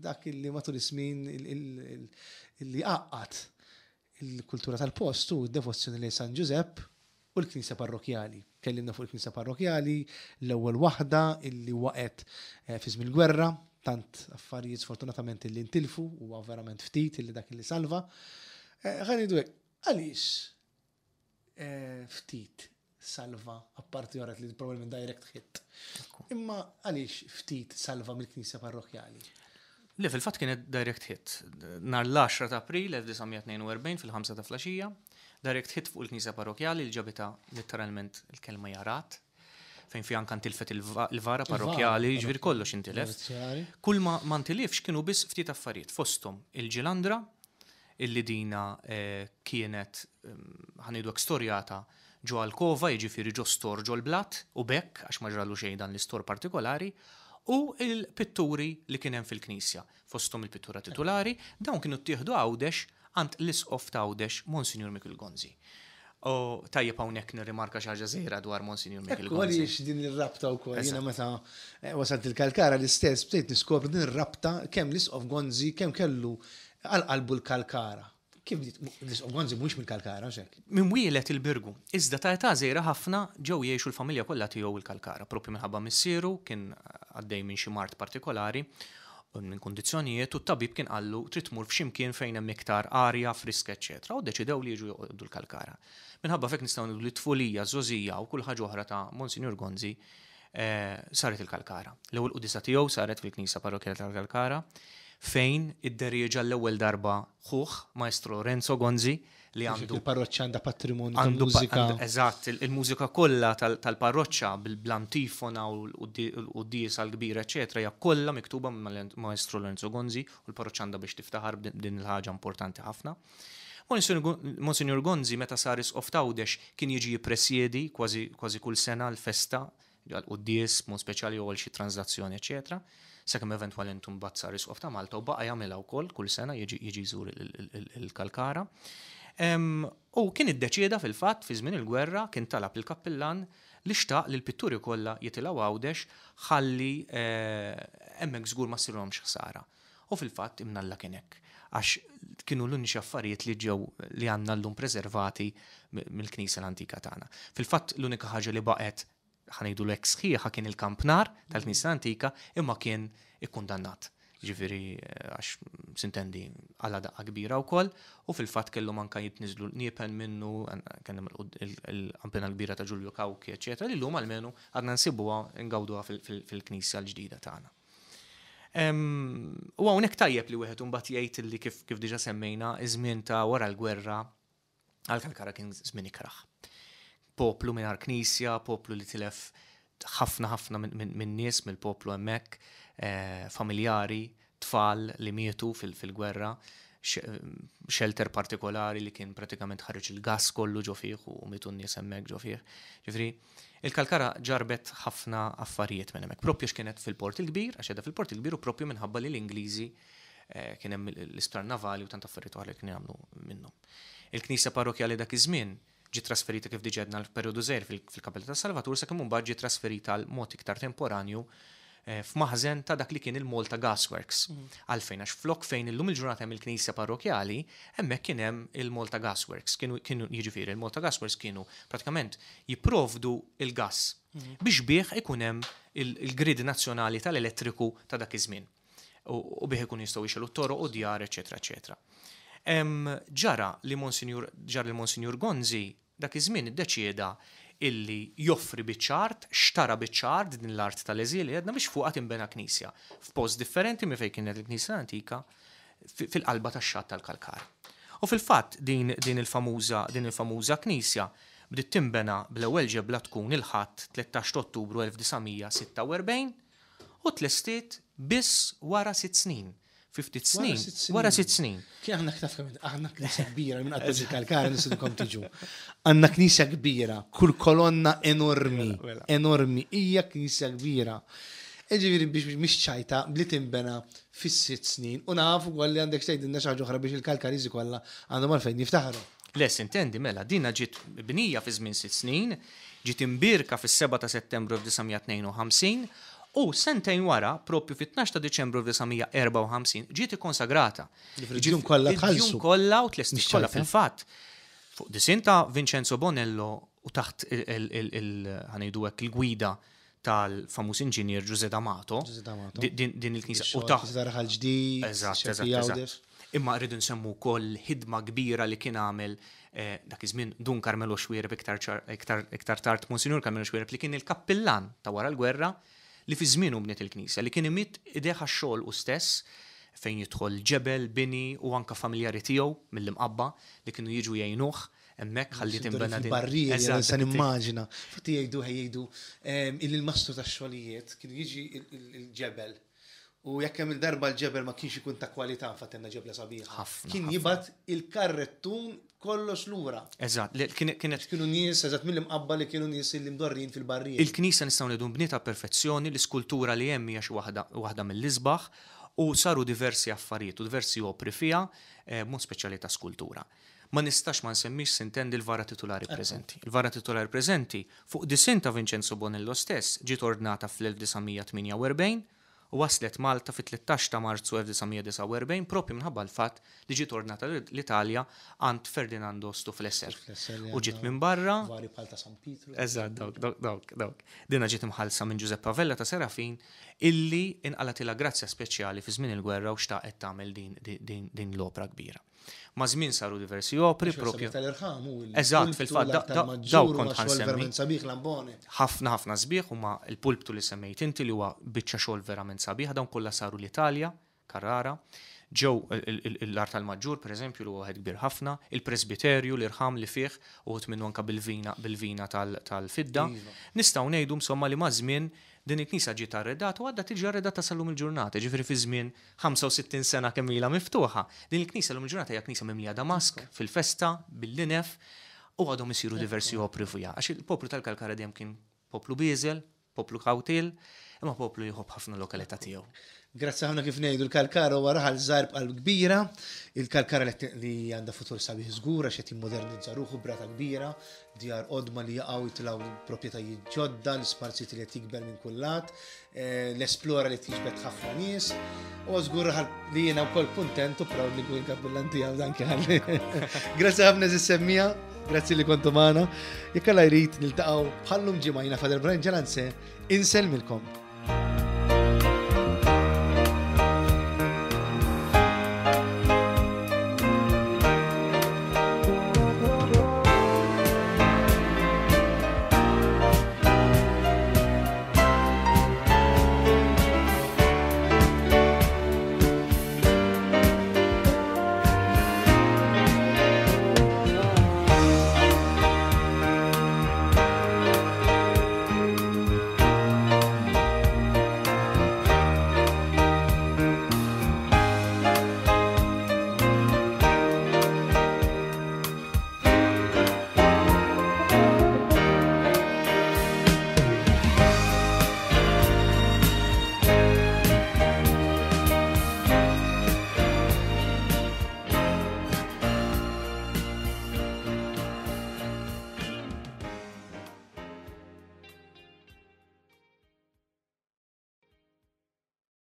dak li matul is-snin li għaqqad Il-kultura tal-post hu d-devozzjoni lejn San Ġużepp u l-knisja parrokkjali. Tkellimna fuq il-knisja parrokkjali, l-ewwel waħda illi waqgħet fi żmien il-gwerra, tant affarijiet sfortunatament illi ntilfu, huwa verament ftit illi dak illi salva. Ħa ngħidu hekk, għaliex ftit salva, apparti orat li probabbilment direct hit. Imma għaliex ftit salva mill-knisja parrokkjali? Le, fil-fatt kienet direct hit. Nhar l-10 ta' April 1942 fil-5 ta' flaxija, Direct hit fuq il-knisja parrokjali li ġabitha letteralment il-kelma jarat, fejn fiha anke ntilfet il-vara parrokjali, jiġifieri kollox intilef. Kull ma ma ntilifx kienu biss ftit affarijiet, fosthom il-ġilandra, illi dina kienet ħa ngħidu hekk storjata ġo alkova, jiġifieri ġo stor ġol-blat, u b'hekk, għax ma ġralu xejn dan l-istor partikolari, u l-pitturi li kien hemm fil-knisja, fosthom il-pittura titulari, dawn kienu ttieħdu Għawdex għand l-Isqof t'Għawdex, Monsinjur Mikiel Gonzi. U tajjeb hawnhekk nirrimarka xi ħaġa żgħira dwar Monsinjur Mikiel Gonzi. Ekku għaliex din ir-rabta wkoll, jiena meta wasalt il-Kalkara l-istess bdejt niskopri din ir-rabta kemm l-Isqof Gonzi kemm kellu għal qalbu l-Kalkara. Kif bdiet? L-Isqof Gonzi mhuwiex mill-Kalkara, hux hekk? Minn wieled il-Birgu, iżda ta' età żgħira ħafna ġew jgħixu l-familja kollha tiegħu l-Kalkara, proprju minħabba missieru kien għaddej minn xi mard partikolari, minn kundizzjonijiet, u t-tabib kien qallu trid tmur f'xi mkien fejn hemm iktar arja friska eċċetera u ddeċidew li jiġu joqogħdu l-Kalkara. Minħabba f'hekk nistgħu ngħidu li t-tfulija, ż-żgħożija u kull ħaġa oħra ta' Monsinjur Gonzi saret il-Kalkara. L-ewwel quddiesa tiegħu saret fil-Knisja Parrokkjali tal-Kalkara fejn idderieġa l-ewwel darba ħuh, Maestro Lorenzo Gonzi, li għandu. Il-parroċċa għandha patrimonju ta' mużika. Eżatt, il-mużika kollha tal-parroċċa bl-antifona u l-quddiesa l-kbira eċċetera hija kollha miktuba minn Maestro Lorenzo Gonzi u l-parroċċa għandha biex tiftaħar b'din il-ħaġa importanti ħafna. Monsinjur Gonzi meta sar Isqof t'Għawdex kien jiġi jippresjedi kważi kull sena l-festa għall-quddies b'mod speċjali jew għal xi tranżlazzjoni eċċetera. Sakemm eventwalment imbagħad sar Isqof ta' Malta u baqa' jagħmilha wkoll kull sena jiġi jiġi jżur il-Kalkara. U kien iddeċieda fil-fatt fi żmien il-gwerra kien talab lill-kappillan li xtaq li l-pitturi kollha jitilgħu Għawdex ħalli hemmhekk żgur ma ssirilhomx ħsara. U fil-fatt imnalla kien hekk għax kienu l-uniċi affarijiet li ġew li għandna llum preservati mill-knisja l-antika tagħna. Fil-fatt l-unika ħaġa li baqgħet ħa ngħidu hekk sħiħa kien il-kampnar tal-knisja l-antika imma kien ikkundannat. Jiġifieri għax sintendi għala daqqa kbira wkoll u fil-fatt kellhom anke jitniżlu l-qniepen minnu, kien hemm il-qampina l-kbira ta' Ġulju Cauchi eċċetera li llum almenu għadna nsibuha ngawduha fil-knisja l-ġdida tagħna. U hawnhekk tajjeb li wieħed imbagħad jgħid li kif diġà semmejna iż-żmien ta' wara l-gwerra għal Kalkara kien żmien ikrah. Poplu mingħajr knisja, poplu li tilef ħafna ħafna minn nies mill-poplu hemmhekk, familjari, tfal li mietu fil-gwerra, shelter partikolari li kien pratikament ħareġ il-gas kollu ġo fih u mietu n-nies hemmhekk ġo fih. Ġifieri, il-Kalkara ġarbet ħafna affarijiet minn hemmhekk. Propju x'kienet fil-Port il-Kbir, għax qiegħda fil-Port il-Kbir u propju minħabba li l-Ingliżi kien hemm l-isptar navali u tant affarijiet oħra li kienu jagħmlu minnhom. Il-knisja parrokjali dak iż-żmien ġiet trasferita kif diġà għedna l-perjodu żgħir fil-Kappella tas-Salvatur sakemm imbagħad ġiet trasferita għal mod iktar temporanju f'maħżen ta' dak li kien il-Malta Gasworks. Għalfejn għax flok fejn illum il-ġurnata hemm il-knisja parrokjali, hemmhekk kien hemm il-Malta Gasworks. Kienu jiġifieri il-Malta Gasworks kienu pratikament jipprovdu il-gas biex bih ikun hemm il-grid nazzjonali tal-elettriku ta' dak iż-żmien. U bih ikun jistgħu jixegħlu t-toroq u djar, eċetera, eċetera. Ġara li Monsinjur ġara li Monsinjur Gonzi dak iż-żmien iddeċieda illi joffri biċċa art, xtara biċċa art din l-art tal-eżil li għedna biex fuqha tinbena knisja f'post differenti minn fejn kienet il-knisja l-antika fil-qalba tax-xatt tal-Kalkar. U fil-fatt din din il-famuża din il-famuża knisja bdiet tinbena bl-ewwel ġebla tkun il-Ħadd 13 Ottubru 1946 u tlestiet biss wara 6 snin. Fi ftit snin. Wara 6 snin. Kien aħna taf kemm aħna knisja kbira minn qatt Kalkara nistidnukom tiġu. Għandna knisja kbira, kull kolonna enormi, enormi, hija knisja kbira. Ġifieri biex mhix ċajta li tinbena fis-6 snin u nafu wkoll li għandek tgħidilna xi ħaġa oħra biex il-Kalkariżi kollha għandhom għalfejn jiftaħru. Le, sintendi, mela, dina ġiet bnija fi żmien 6 snin, ġiet imbierka fis-7 ta' Settembru 1952 u sentejn wara, propju fit-12 ta' Diċembru 1954, ġiet ikkonsagrata. Id-djun kollha tħallsu. Id-djun kollha u tlestiet kollha fil-fatt. Fuq disinn ta' Vincenzo Bonello u taħt ħa ngħidu hekk il-gwida tal-famuż inġinier Giuseppe D'Amato. Din il-knisja. U taħt. Raħal ġdid. Eżatt, eżatt. Imma rridu nsemmu wkoll ħidma kbira li kien għamel dak iż-żmien Dun Carmelo Xuereb iktar tard Monsinjur Carmelo Xuereb li kien il-kappillan ta' wara l-gwerra li fi żmienu bniet il-knisja li kien imidd idejh għax-xogħol hu stess fejn jidħol ġebel, bini u anke familjari tiegħu mill-Imqabba li kienu jiġu jgħinuh. hemmhekk ħalli tinbena din. Barrieri, se nimmaġina. Fatti jgħidu jgħidu ehm, il-mastru tax-xogħlijiet kienu jiġi il-ġebel. U jekk hemm il-darba l-ġebel ma kienx ikun ta' kwalità fatenna ġebla sabiħa. Kien jibgħat il-karrettun kollox lura. Eżatt, kienet. Kienu nies, eżatt mill-imqabba li kienu nies li mdorrin fil-barrieri. Il-knisja nistgħu ngħidu nbniet perfezzjoni, l-iskultura li hemm hija xi waħda mill-isbaħ u saru diversi affarijiet u diversi opri fiha, eh, mod speċjali ta' skultura. Ma nistax ma nsemmix sintendi l-vara titulari preżenti. Il-vara titulari preżenti, fuq disinn ta' Vincenzo Bonello stess, ġiet ordnata fl-1948 u waslet Malta fit-13 ta' Marzu 1949 propju minħabba l-fatt li ġiet ordnata l-Italja għand Ferdinando Stuflesser. U ġiet minn barra. Vari bħal ta' San Pietru. Eżatt, dawk, dawk, dawk, dawk. Dina ġiet imħallsa minn Giuseppe Vella ta' Serafin illi inqalgħatilha grazzja speċjali fi żmien il-gwerra u xtaqet tagħmel din, din, l-opra kbira. Maż-żmien saru diversi opri propju. Tal-irħam u Eżatt, fil-fatt daw kont ħansemmi. Sabiħ lambone. Ħafna ħafna sbieħ huma l-pulptu li semmejt inti li huwa biċċa xogħol verament sabiħ, dawn kollha saru l-Italja, Carrara. Ġew l-art tal-Maġġur, pereżempju, li huwa wieħed kbir ħafna, il-presbiterju, l-irħam li fih, uħud minnu anke bil-vina bil-vina tal-fidda. Iva. Nistgħu ngħidu insomma li maż-żmien din il-knisja ġiet arredata u għadha tiġi arredata sal-lum il-ġurnata, ġifieri fi żmien 65 sena kemm ilha miftuħa. Din il-knisja llum il-ġurnata hija knisja mimlija damask, fil-festa, bil-linef, u għadhom isiru diversi opri fiha. Għax il-poplu tal-Kalkara dejjem kien poplu bieżel, poplu kawtil, imma poplu li jħobb ħafna l-lokalità tiegħu. Grazzi ħafna kif ngħidu l-Kalkara huwa raħal żgħir b'qalb kbira, il-Kalkara li għandha futur sabiħ żgur għax qed jimmodernizza ruħu b'rata kbira, djar qodma li jaqgħu jitilgħu proprjetajiet ġodda, l-isparzjiet li qed jikber minn kull lat, eh, l-esplora li tiġbed ħafna nies, u żgur li jiena wkoll kuntent u proud li nkun kappillan tiegħu dan kien. Grazzi ħafna semmija, grazzi li kontu magħna. Jekk Alla jrid niltaqgħu bħallum ġimgħa jiena Father Brian Ġelanze, insellmilkom.